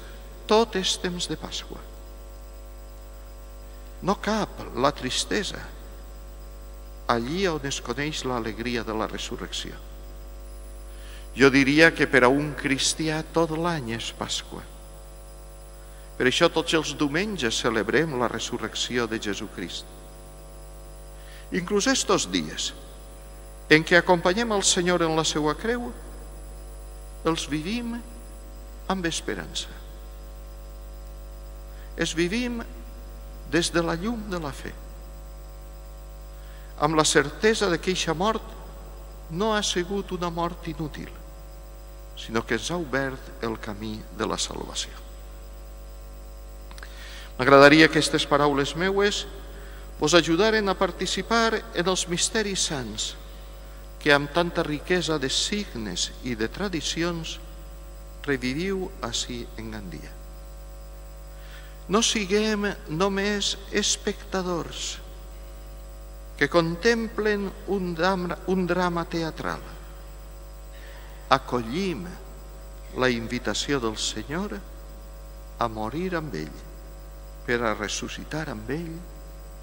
tot és temps de Pasqua. No cap la tristesa allí on es coneix l'alegria de la resurrecció. Jo diria que per a un cristià tot l'any és Pasqua. Per això tots els diumenges celebrem la resurrecció de Jesucrist. Inclús estos dies en què acompanyem el Senyor en la seva creu, els vivim amb esperança. Els vivim des de la llum de la fe, amb la certesa que aquesta mort no ha sigut una mort inútil, sinó que ens ha obert el camí de la salvació. M'agradaria que aquestes paraules meues vos ajudaren a participar en els misteris sants que amb tanta riquesa de signes i de tradicions reviviu ací en Gandia. No siguem només espectadors que contemplen un drama teatral. Acollim la invitació del Senyor a morir amb ell, per a ressuscitar amb ell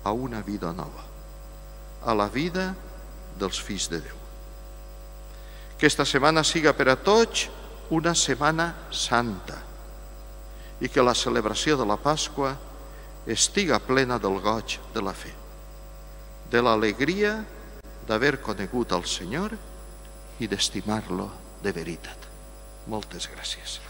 a una vida nova, a la vida dels fills de Déu. Que esta setmana siga per a tots una setmana santa i que la celebració de la Pasqua estiga plena del goig de la fe, de l'alegria d'haver conegut el Senyor i d'estimar-lo de veritat. Moltes gràcies.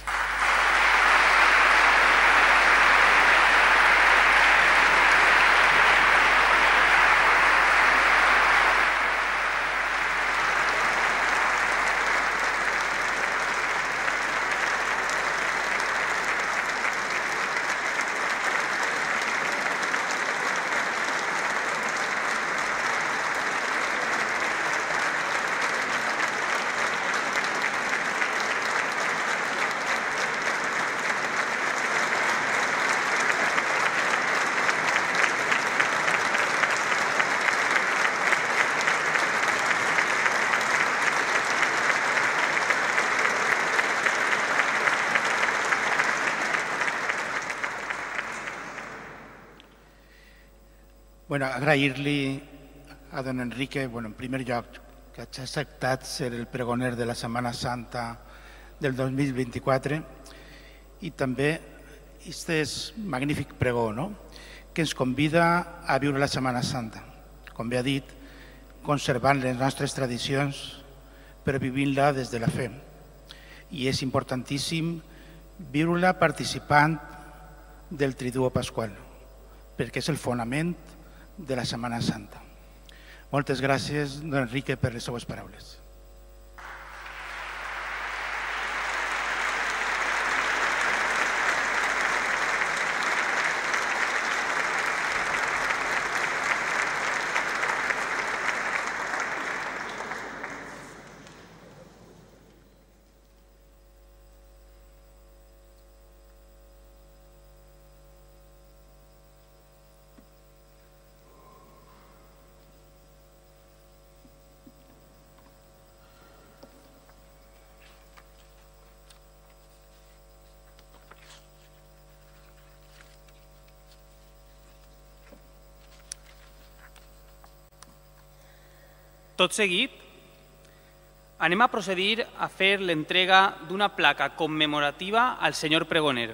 Agrair-li a don Enrique, en primer lloc, que hagi acceptat ser el pregoner de la Setmana Santa del 2024 i també aquest magnífic pregó que ens convida a viure la Setmana Santa, com bé ha dit, conservant les nostres tradicions però vivint-la des de la fe. I és importantíssim viure-la participant del Triduo Pasqual, perquè és el fonament de la Setmana Santa. Moltes gràcies, don Enrique, per les seues paraules. Tot seguit, anem a procedir a fer l'entrega d'una placa commemorativa al senyor pregoner.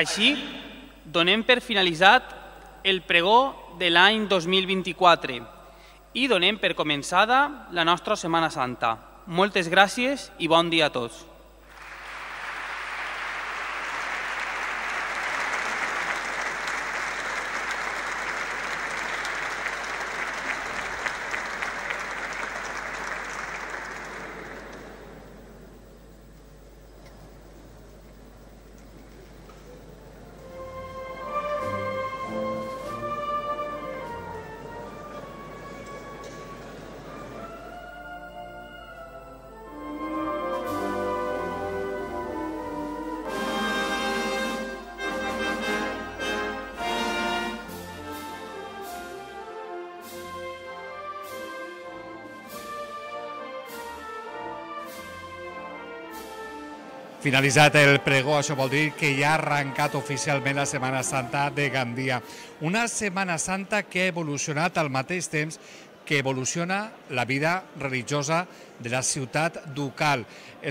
Així, donem per finalitzat el pregó de l'any 2024 i donem per començada la nostra Setmana Santa. Moltes gràcies i bon dia a tots. Finalitzat el pregó, això vol dir que ja ha arrencat oficialment la Setmana Santa de Gandia. Una Setmana Santa que ha evolucionat al mateix temps que evoluciona la vida religiosa de la ciutat ducal.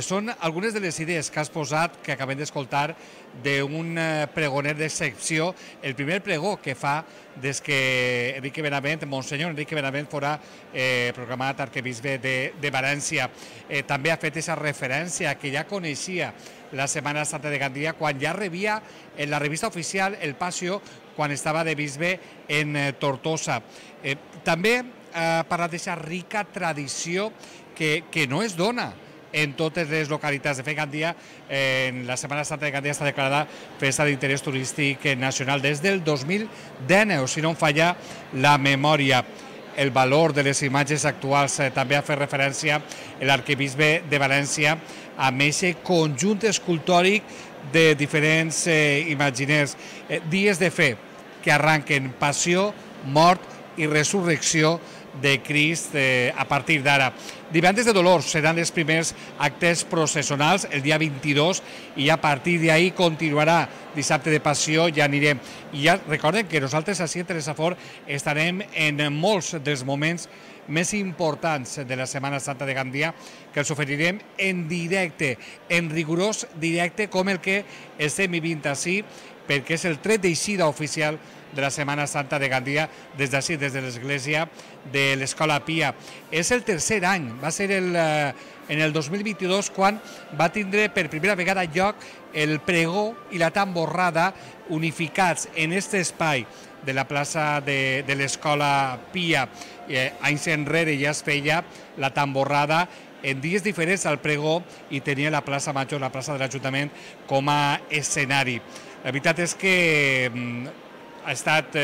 Són algunes de les idees que has posat, que acabem d'escoltar, d'un pregoner d'excepció, el primer pregó que fa des que Enrique Benavent, Monsenyor Enrique Benavent, fora proclamat arquebisbe de València. També ha fet aquesta referència que ja coneixia la Setmana Santa de Gandia quan ja rebia en la revista oficial El Pasio quan estava de bisbe en Tortosa. També ha parlat d'aquesta rica tradició que no es dona en totes les localitats. De fet, Gandia, en la Setmana Santa de Gandia està declarada festa d'interès turístic nacional des del 2019, si no em falla la memòria. El valor de les imatges actuals també ha fet referència l'arquebisbe de València amb aquest conjunt escultòric de diferents imaginers. Dies de fe que arranquen passió, mort i resurrecció de Crist a partir d'ara. Divendres de Dolors seran els primers actes processionals el dia 22 i a partir d'ahir continuarà dissabte de Passió, ja anirem. I ja recorden que nosaltres així a Teresafor estarem en molts dels moments més importants de la Setmana Santa de Gandia, que els oferirem en directe, en rigorós directe, com el que estem vivint així, perquè és el tret d'eixida oficial de la Setmana Santa de Gandia des d'ací, des de l'església de l'Escola Pia. És el tercer any, va ser en el 2022 quan va tindre per primera vegada lloc el pregó i la tamborrada unificats en aquest espai de la plaça de l'Escola Pia. Anys enrere ja es feia la tamborrada en dies diferents al pregó i tenia la plaça Major, la plaça de l'Ajuntament, com a escenari. La veritat és que ha estat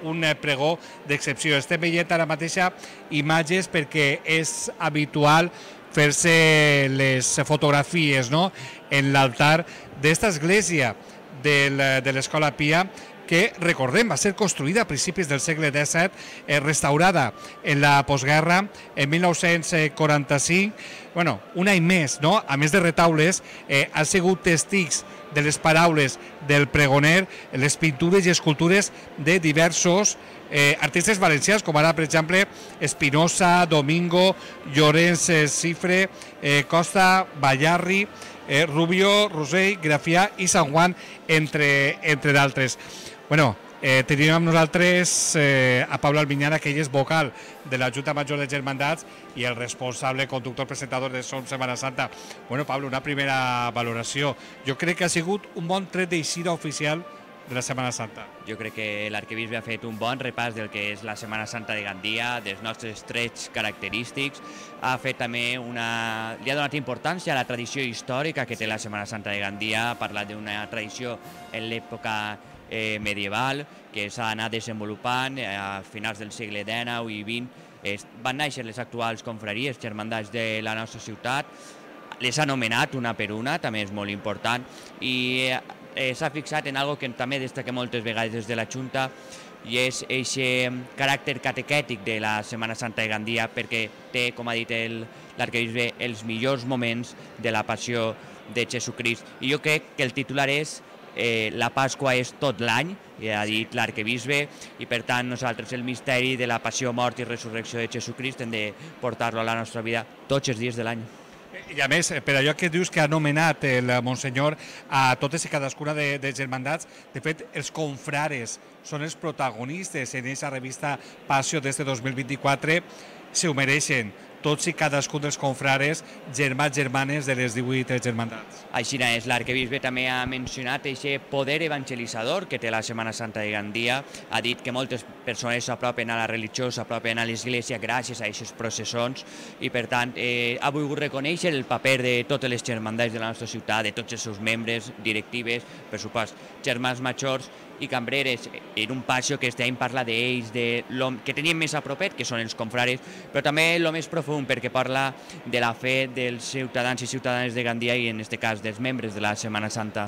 un pregó d'excepció. Estem veient ara mateixa imatges perquè és habitual fer-se les fotografies en l'altar d'esta església de l'Escola Pia, que, recordem, va ser construïda a principis del segle XVII, restaurada en la postguerra en 1945. Bueno, un any més, a més de retaules, han sigut testigs de les paraules del pregoner, les pintures i escultures de diversos artistes valencians, com ara, per exemple, Espinosa, Domingo, Llorenç Cifre, Costa, Ballarri, Rubio, Rosell, Grafià i Sant Juan, entre d'altres. Bueno, tenim amb nosaltres a Pablo Almiñana, que ell és vocal de la Junta Major de Germandats i el responsable conductor presentador de Som Setmana Santa. Bueno, Pablo, una primera valoració. Jo crec que ha sigut un bon tret d'eixida oficial de la Setmana Santa. Jo crec que l'arquebisbe ha fet un bon repàs del que és la Setmana Santa de Gandia, dels nostres trets característics. Ha fet també li ha donat importància a la tradició històrica que té la Setmana Santa de Gandia. Ha parlat d'una tradició en l'època medieval que s'ha anat desenvolupant a finals del segle XIX i XX. Van néixer les actuals confraries, germandats de la nostra ciutat, les ha anomenat una per una, també és molt important, i s'ha fixat en algo que també destaca moltes vegades des de la Junta, i és aquest caràcter catequètic de la Setmana Santa de Gandia, perquè té, com ha dit l'arquebisbe, els millors moments de la passió de Jesucrist. I jo crec que el titular és la Pasqua és tot l'any, ja ha dit l'arquebisbe, i per tant nosaltres el misteri de la passió, mort i resurrecció de Jesucrist hem de portar-lo a la nostra vida tots els dies de l'any. I a més, per allò que dius que ha anomenat el Monsenyor a totes i cadascuna de germandats, de fet, els confrares són els protagonistes en aquesta revista Passió des de 2024, se ho mereixen tots i cadascun dels confrares, germans, germanes de les 18 germandats. Així és, l'arquebisbe també ha mencionat aquest poder evangelitzador que té la Setmana Santa de Gandia. Ha dit que moltes persones s'apropen a la religió, s'apropen a l'església gràcies a aquestes processons i, per tant, ha volgut reconèixer el paper de totes les germandats de la nostra ciutat, de tots els seus membres, directives, per supost, germans majors i cambreres, en un passió que estem parlant d'ells, que tenim més a propet, que són els confrares, però també el més profund, perquè parla de la fe dels ciutadans i ciutadanes de Gandia i, en aquest cas, dels membres de la Setmana Santa.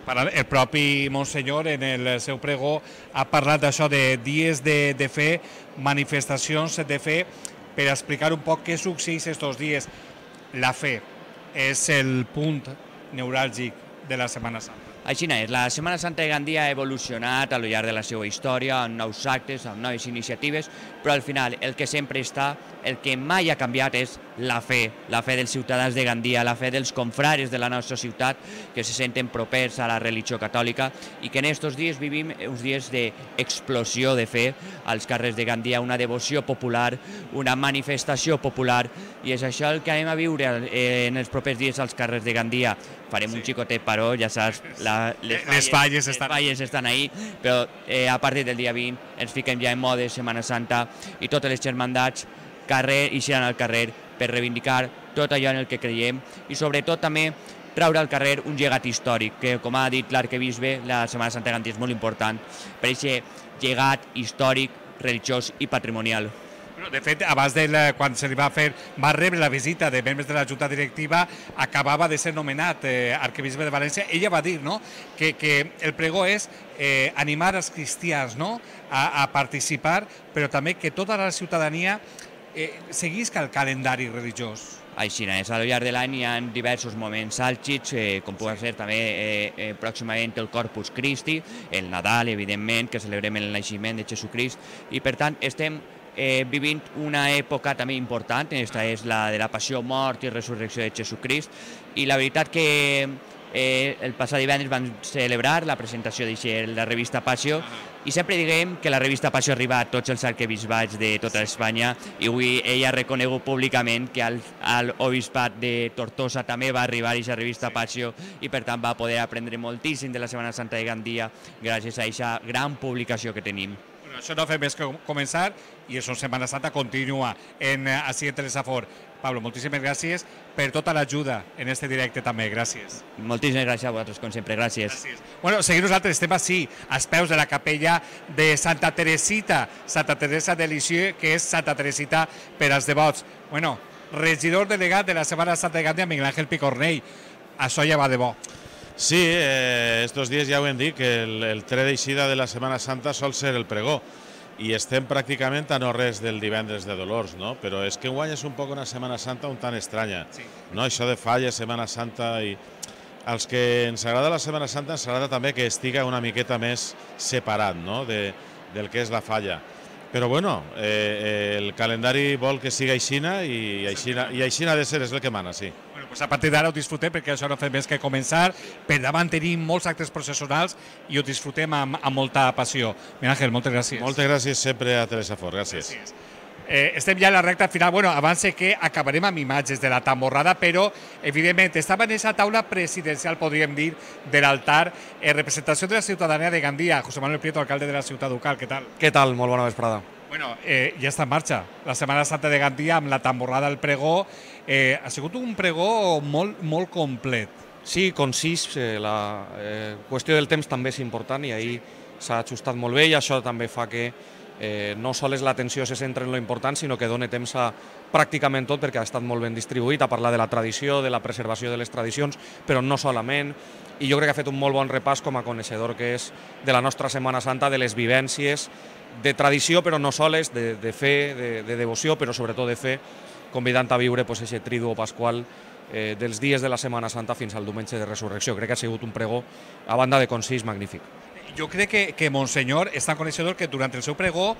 El propi Monsenyor, en el seu pregó, ha parlat d'això de dies de fe, manifestacions de fe, per explicar un poc què succeeix aquests dies. La fe és el punt neuràlgic de la Setmana Santa. Així és, la Setmana Santa de Gandia ha evolucionat al llarg de la seva història, amb nous actes, amb noves iniciatives, però al final el que sempre està, el que mai ha canviat és la fe dels ciutadans de Gandia, la fe dels confrares de la nostra ciutat, que se senten propers a la religió catòlica i que en aquests dies vivim uns dies d'explosió de fe als carrers de Gandia, una devoció popular, una manifestació popular, i és això el que anem a viure en els propers dies als carrers de Gandia. Farem un xicotet paró, ja saps, les falles estan ahí, però a partir del dia 20 ens fiquem ja en mode Setmana Santa i totes les germandats ixiran al carrer per reivindicar tot allò en el que creiem i sobretot també traure al carrer un llegat històric, que com ha dit l'arquebisbe, la Setmana Santa de Gandia és molt important per aquest llegat històric, religiós i patrimonial. De fet, abans quan se li va rebre la visita de membres de la Junta Directiva, acabava de ser nomenat arquebisbe de València. Ella va dir que el pregó és animar els cristians a participar, però també que tota la ciutadania seguisca el calendari religiós. Així és, al llarg de l'any hi ha diversos moments àlgids, com pugui ser també pròximament el Corpus Christi, el Nadal, evidentment, que celebrem el naixement de Jesucrist, i per tant estem vivint una època també important, aquesta és la de la passió, mort i resurrecció de Jesucrist, i la veritat que el passat divendres vam celebrar la presentació de la revista Passió, i sempre diguem que la revista Passió arriba a tots els arquebisbats de tota Espanya, i avui ella ha reconegut públicament que al obispat de Tortosa també va arribar aquesta revista Passió, i per tant va poder aprendre moltíssim de la Setmana Santa de Gandia gràcies a aquesta gran publicació que tenim. Això no fa més que començar i això Setmana Santa continua així en Telesafor. Pablo, moltíssimes gràcies per tota l'ajuda en este directe també, gràcies. Moltíssimes gràcies a vosaltres, com sempre, gràcies. Bueno, seguim nosaltres, estem així, als peus de la capella de Santa Teresita, Santa Teresa de Lisieux, que és Santa Teresita per als devots. Bueno, regidor delegat de la Setmana Santa de Gandia, Miguel Ángel Picornell, això ja va de bo. Sí, estos días ja ho hem dit, que el tret d'eixida de la Setmana Santa sol ser el pregó, i estem pràcticament a no res del divendres de Dolors, no? Però és que enguany és un poc una Setmana Santa un tant estranya, no? Això de falla, Setmana Santa, i als que ens agrada la Setmana Santa ens agrada també que estiga una miqueta més separat, no? Del que és la falla. Però bueno, el calendari vol que siga aixina i aixina ha de ser, és el que mana, sí. Bueno, pues a partir d'ara ho disfrutem perquè això no fa més que començar. Per davant tenim molts actes processionals i ho disfrutem amb molta passió. Miguel Ángel, moltes gràcies. Moltes gràcies sempre a Telesafor, gràcies. Estem ja a la recta final. Bueno, abans que acabarem amb imatges de la tamborrada, però evidentment estava en aquesta taula presidencial, podríem dir, de l'altar, en representació de la ciutadania de Gandia. José Manuel Prieto, alcalde de la ciutat ducal, què tal? Què tal? Molt bona vesprada. Bueno, ja està en marxa la Setmana Santa de Gandia amb la tamborrada al pregó. Ha sigut un pregó molt complet. Sí, concís. La qüestió del temps també és important i ahir s'ha ajustat molt bé i això també fa que no sols l'atenció se centra en lo important, sinó que dona temps a pràcticament tot perquè ha estat molt ben distribuït, a parlar de la tradició, de la preservació de les tradicions, però no solament. I jo crec que ha fet un molt bon repàs com a coneixedor que és de la nostra Setmana Santa, de les vivències, de tradició, però no soles, de fe, de devoció, però sobretot de fe, convidant a viure aquest triduo pasqual dels dies de la Setmana Santa fins al diumenge de Resurrecció. Crec que ha sigut un pregó, a banda de concís, magnífic. Jo crec que Monsenyor és tan coneixedor que durant el seu pregó,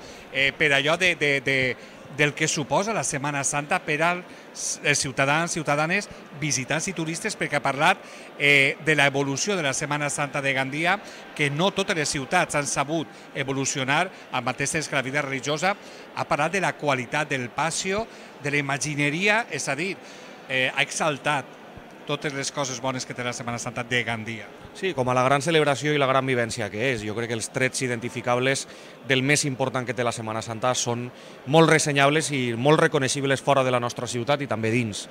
per allò del que suposa la Setmana Santa per als ciutadans, ciutadanes, visitants i turistes, perquè ha parlat de l'evolució de la Setmana Santa de Gandia, que no totes les ciutats han sabut evolucionar al mateix temps que la vida religiosa. Ha parlat de la qualitat del passió, de la imagineria, és a dir, ha exaltat totes les coses bones que té la Setmana Santa de Gandia. Sí, com a la gran celebració i la gran vivència que és. Jo crec que els trets identificables del més important que té la Setmana Santa són molt ressenyables i molt reconeixibles fora de la nostra ciutat i també dins.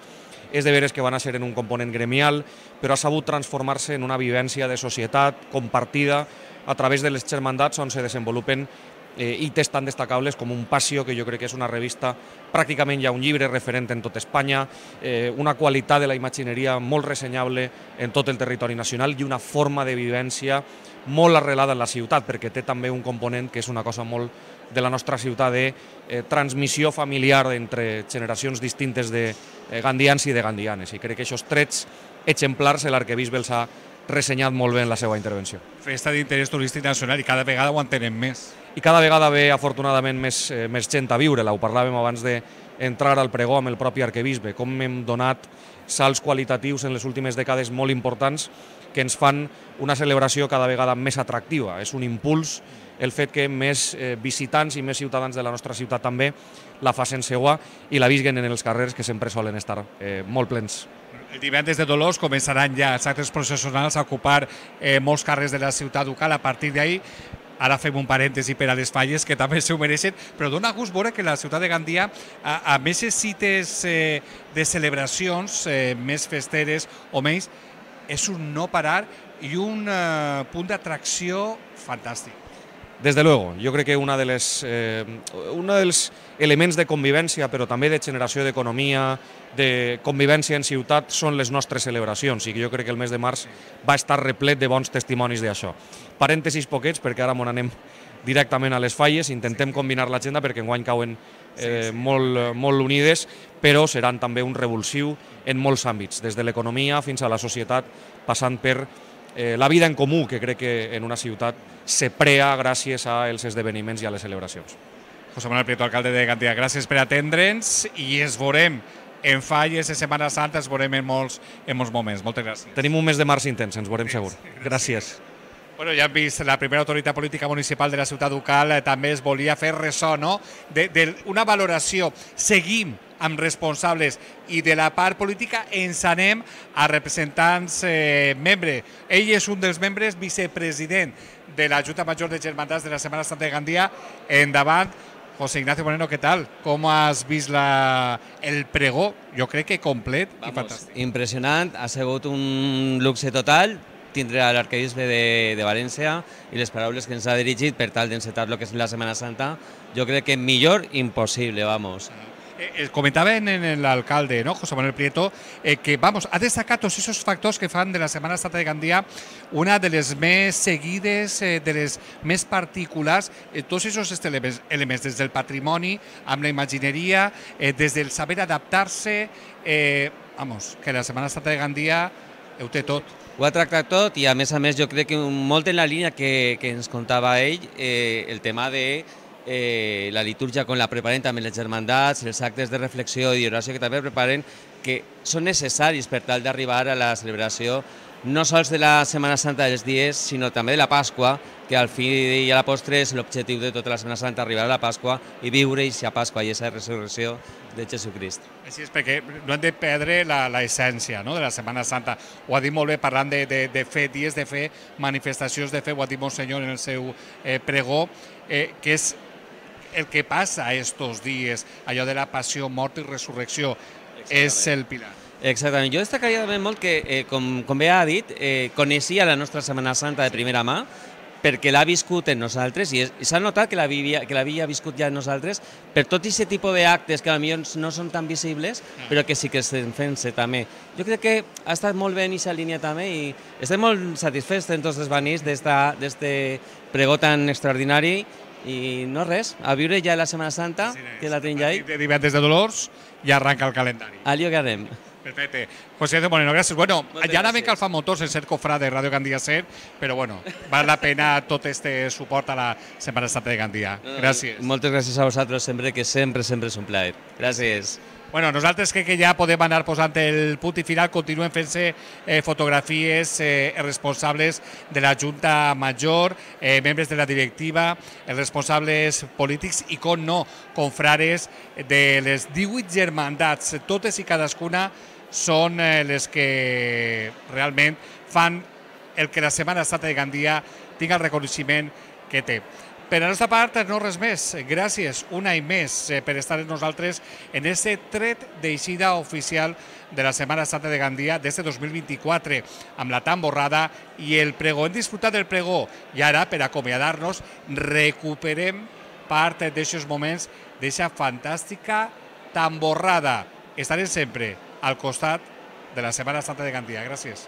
És de veres que van a ser en un component gremial, però ha sabut transformar-se en una vivència de societat compartida a través de les germandats on se desenvolupen hites tan destacables com un Passió, que jo crec que és una revista, pràcticament ja un llibre referent en tot Espanya, una qualitat de la imagineria molt ressenyable en tot el territori nacional i una forma de vivència molt arrelada en la ciutat, perquè té també un component que és una cosa molt de la nostra ciutat de transmissió familiar entre generacions distintes de gandians i de gandianes. I crec que aquests trets exemplars l'arquebisbe els ha ressenyat molt bé en la seva intervenció. Festa d'interès turístic nacional i cada vegada ho entenen més. I cada vegada ve, afortunadament, més gent a viure-la. Ho parlàvem abans d'entrar al pregó amb el propi arquebisbe, com hem donat salts qualitatius en les últimes dècades molt importants que ens fan una celebració cada vegada més atractiva. És un impuls el fet que més visitants i més ciutadans de la nostra ciutat també la facin seua i la visquen en els carrers, que sempre solen estar molt plens. El divendres de Dolors començaran ja els actes processionals a ocupar molts carrers de la ciutat ducal. A partir d'ahir, ara fem un parèntesi per a les falles, que també s'ho mereixen, però dona gust veure que la ciutat de Gandia, a més cites de celebracions més festeres o menys, és un no parar i un punt d'atracció fantàstic. Desde luego, yo creo que uno de los elements de convivència, però també de generació d'economia, de convivència en ciutat, són les nostres celebracions, i jo crec que el mes de març va estar replet de bons testimonis d'això. Parèntesis poquets, perquè ara m'on anem directament a les falles, intentem combinar l'agenda perquè enguany cauen molt unides, però seran també un revulsiu en molts àmbits, des de l'economia fins a la societat, passant per la vida en comú, que crec que en una ciutat se prea gràcies als esdeveniments i a les celebracions. José Manuel Prieto, alcalde de Gandia, gràcies per atendre'ns i ens veurem en falles de Setmana Santa, ens veurem en molts moments. Moltes gràcies. Tenim un mes de març intens, ens veurem segur. Gràcies. Bueno, ja hem vist, la primera autoritat política municipal de la ciutat ducal també es volia fer ressò, no?, d'una valoració. Seguim amb responsables i de la part política ens anem a representants membres. Ell és un dels membres vicepresident de la Junta Major de Germandats de la Setmana Santa de Gandia. Endavant, José Ignacio Moreno, què tal? Com has vist el pregó? Jo crec que complet i fantàstic. Impressionant, ha sigut un luxe total tindre l'arquebisbe de València i les paraules que ens ha dirigit per tal d'encetar el que és la Setmana Santa, jo crec que millor impossible, vamos. Comentaba en l'alcalde, ¿no?, José Manuel Prieto, que ha destacat tots esos factors que fan de la Setmana Santa de Gandia una de les més seguides, de les més particulars, tots esos elements, des del patrimoni, amb la imagineria, des del saber adaptar-se, que la Setmana Santa de Gandia ho té tot. Ho ha tractat tot i, a més, jo crec que molt en la línia que ens contava ell, el tema de la litúrgia com la preparen també les germandats, els actes de reflexió i d'oració que també preparen, que són necessaris per tal d'arribar a la celebració no sols de la Setmana Santa dels dies, sinó també de la Pasqua, que al fi i a la postre és l'objectiu de tota la Setmana Santa, arribar a la Pasqua i viure aquesta Pasqua i aquesta resurrecció de Jesucrist. Així és, perquè no hem de perdre l'essència de la Setmana Santa. Ho ha dit molt bé parlant de fe, dies de fe, manifestacions de fe, ho ha dit Monsenyor en el seu pregó, que és el que passa estos dies, allò de la passió, mort i resurrecció, és el pilar. Exactament. Jo destacaria també molt que, com bé ha dit, coneixia la nostra Setmana Santa de primera mà, perquè l'ha viscut en nosaltres, i s'ha notat que l'havia viscut ja en nosaltres, per tot aquest tipus d'actes que potser no són tan visibles, però que sí que estem fent-se també. Jo crec que ha estat molt bé en aquesta línia també i estem molt satisfets en tots els banys d'aquest pregó tan extraordinari. I no res, a viure ja la Setmana Santa, que la tenim ja ahí. De divendres de Dolors ja arranca el calendari. Allò que anem. Perfecte. José Ignacio Moreno, gràcies. Bueno, ja anàvem calfamotors en ser cofrà de Ràdio Gandia Ser, però bueno, val la pena tot este suport a la Setmana Santa de Gandia. Gràcies. Moltes gràcies a vosaltres, sempre, que sempre és un plaer. Gràcies. Bueno, nosaltres crec que ja podem anar posant el punt i final, continuen fent-se fotografies, responsables de la Junta Major, membres de la directiva, els responsables polítics i, com no, confrares de les 18 germandats. Totes i cadascuna són les que realment fan el que la Setmana Santa de Gandia tingui el reconeixement que té. Per la nostra part, no res més. Gràcies un any més per estar amb nosaltres en aquest tret d'eixida oficial de la Setmana Santa de Gandia des de 2024, amb la tamborrada i el pregó. Hem disfrutat del pregó i ara, per acomiadar-nos, recuperem part d'aquests moments, d'aquesta fantàstica tamborrada. Estarem sempre al costat de la Setmana Santa de Gandia. Gràcies.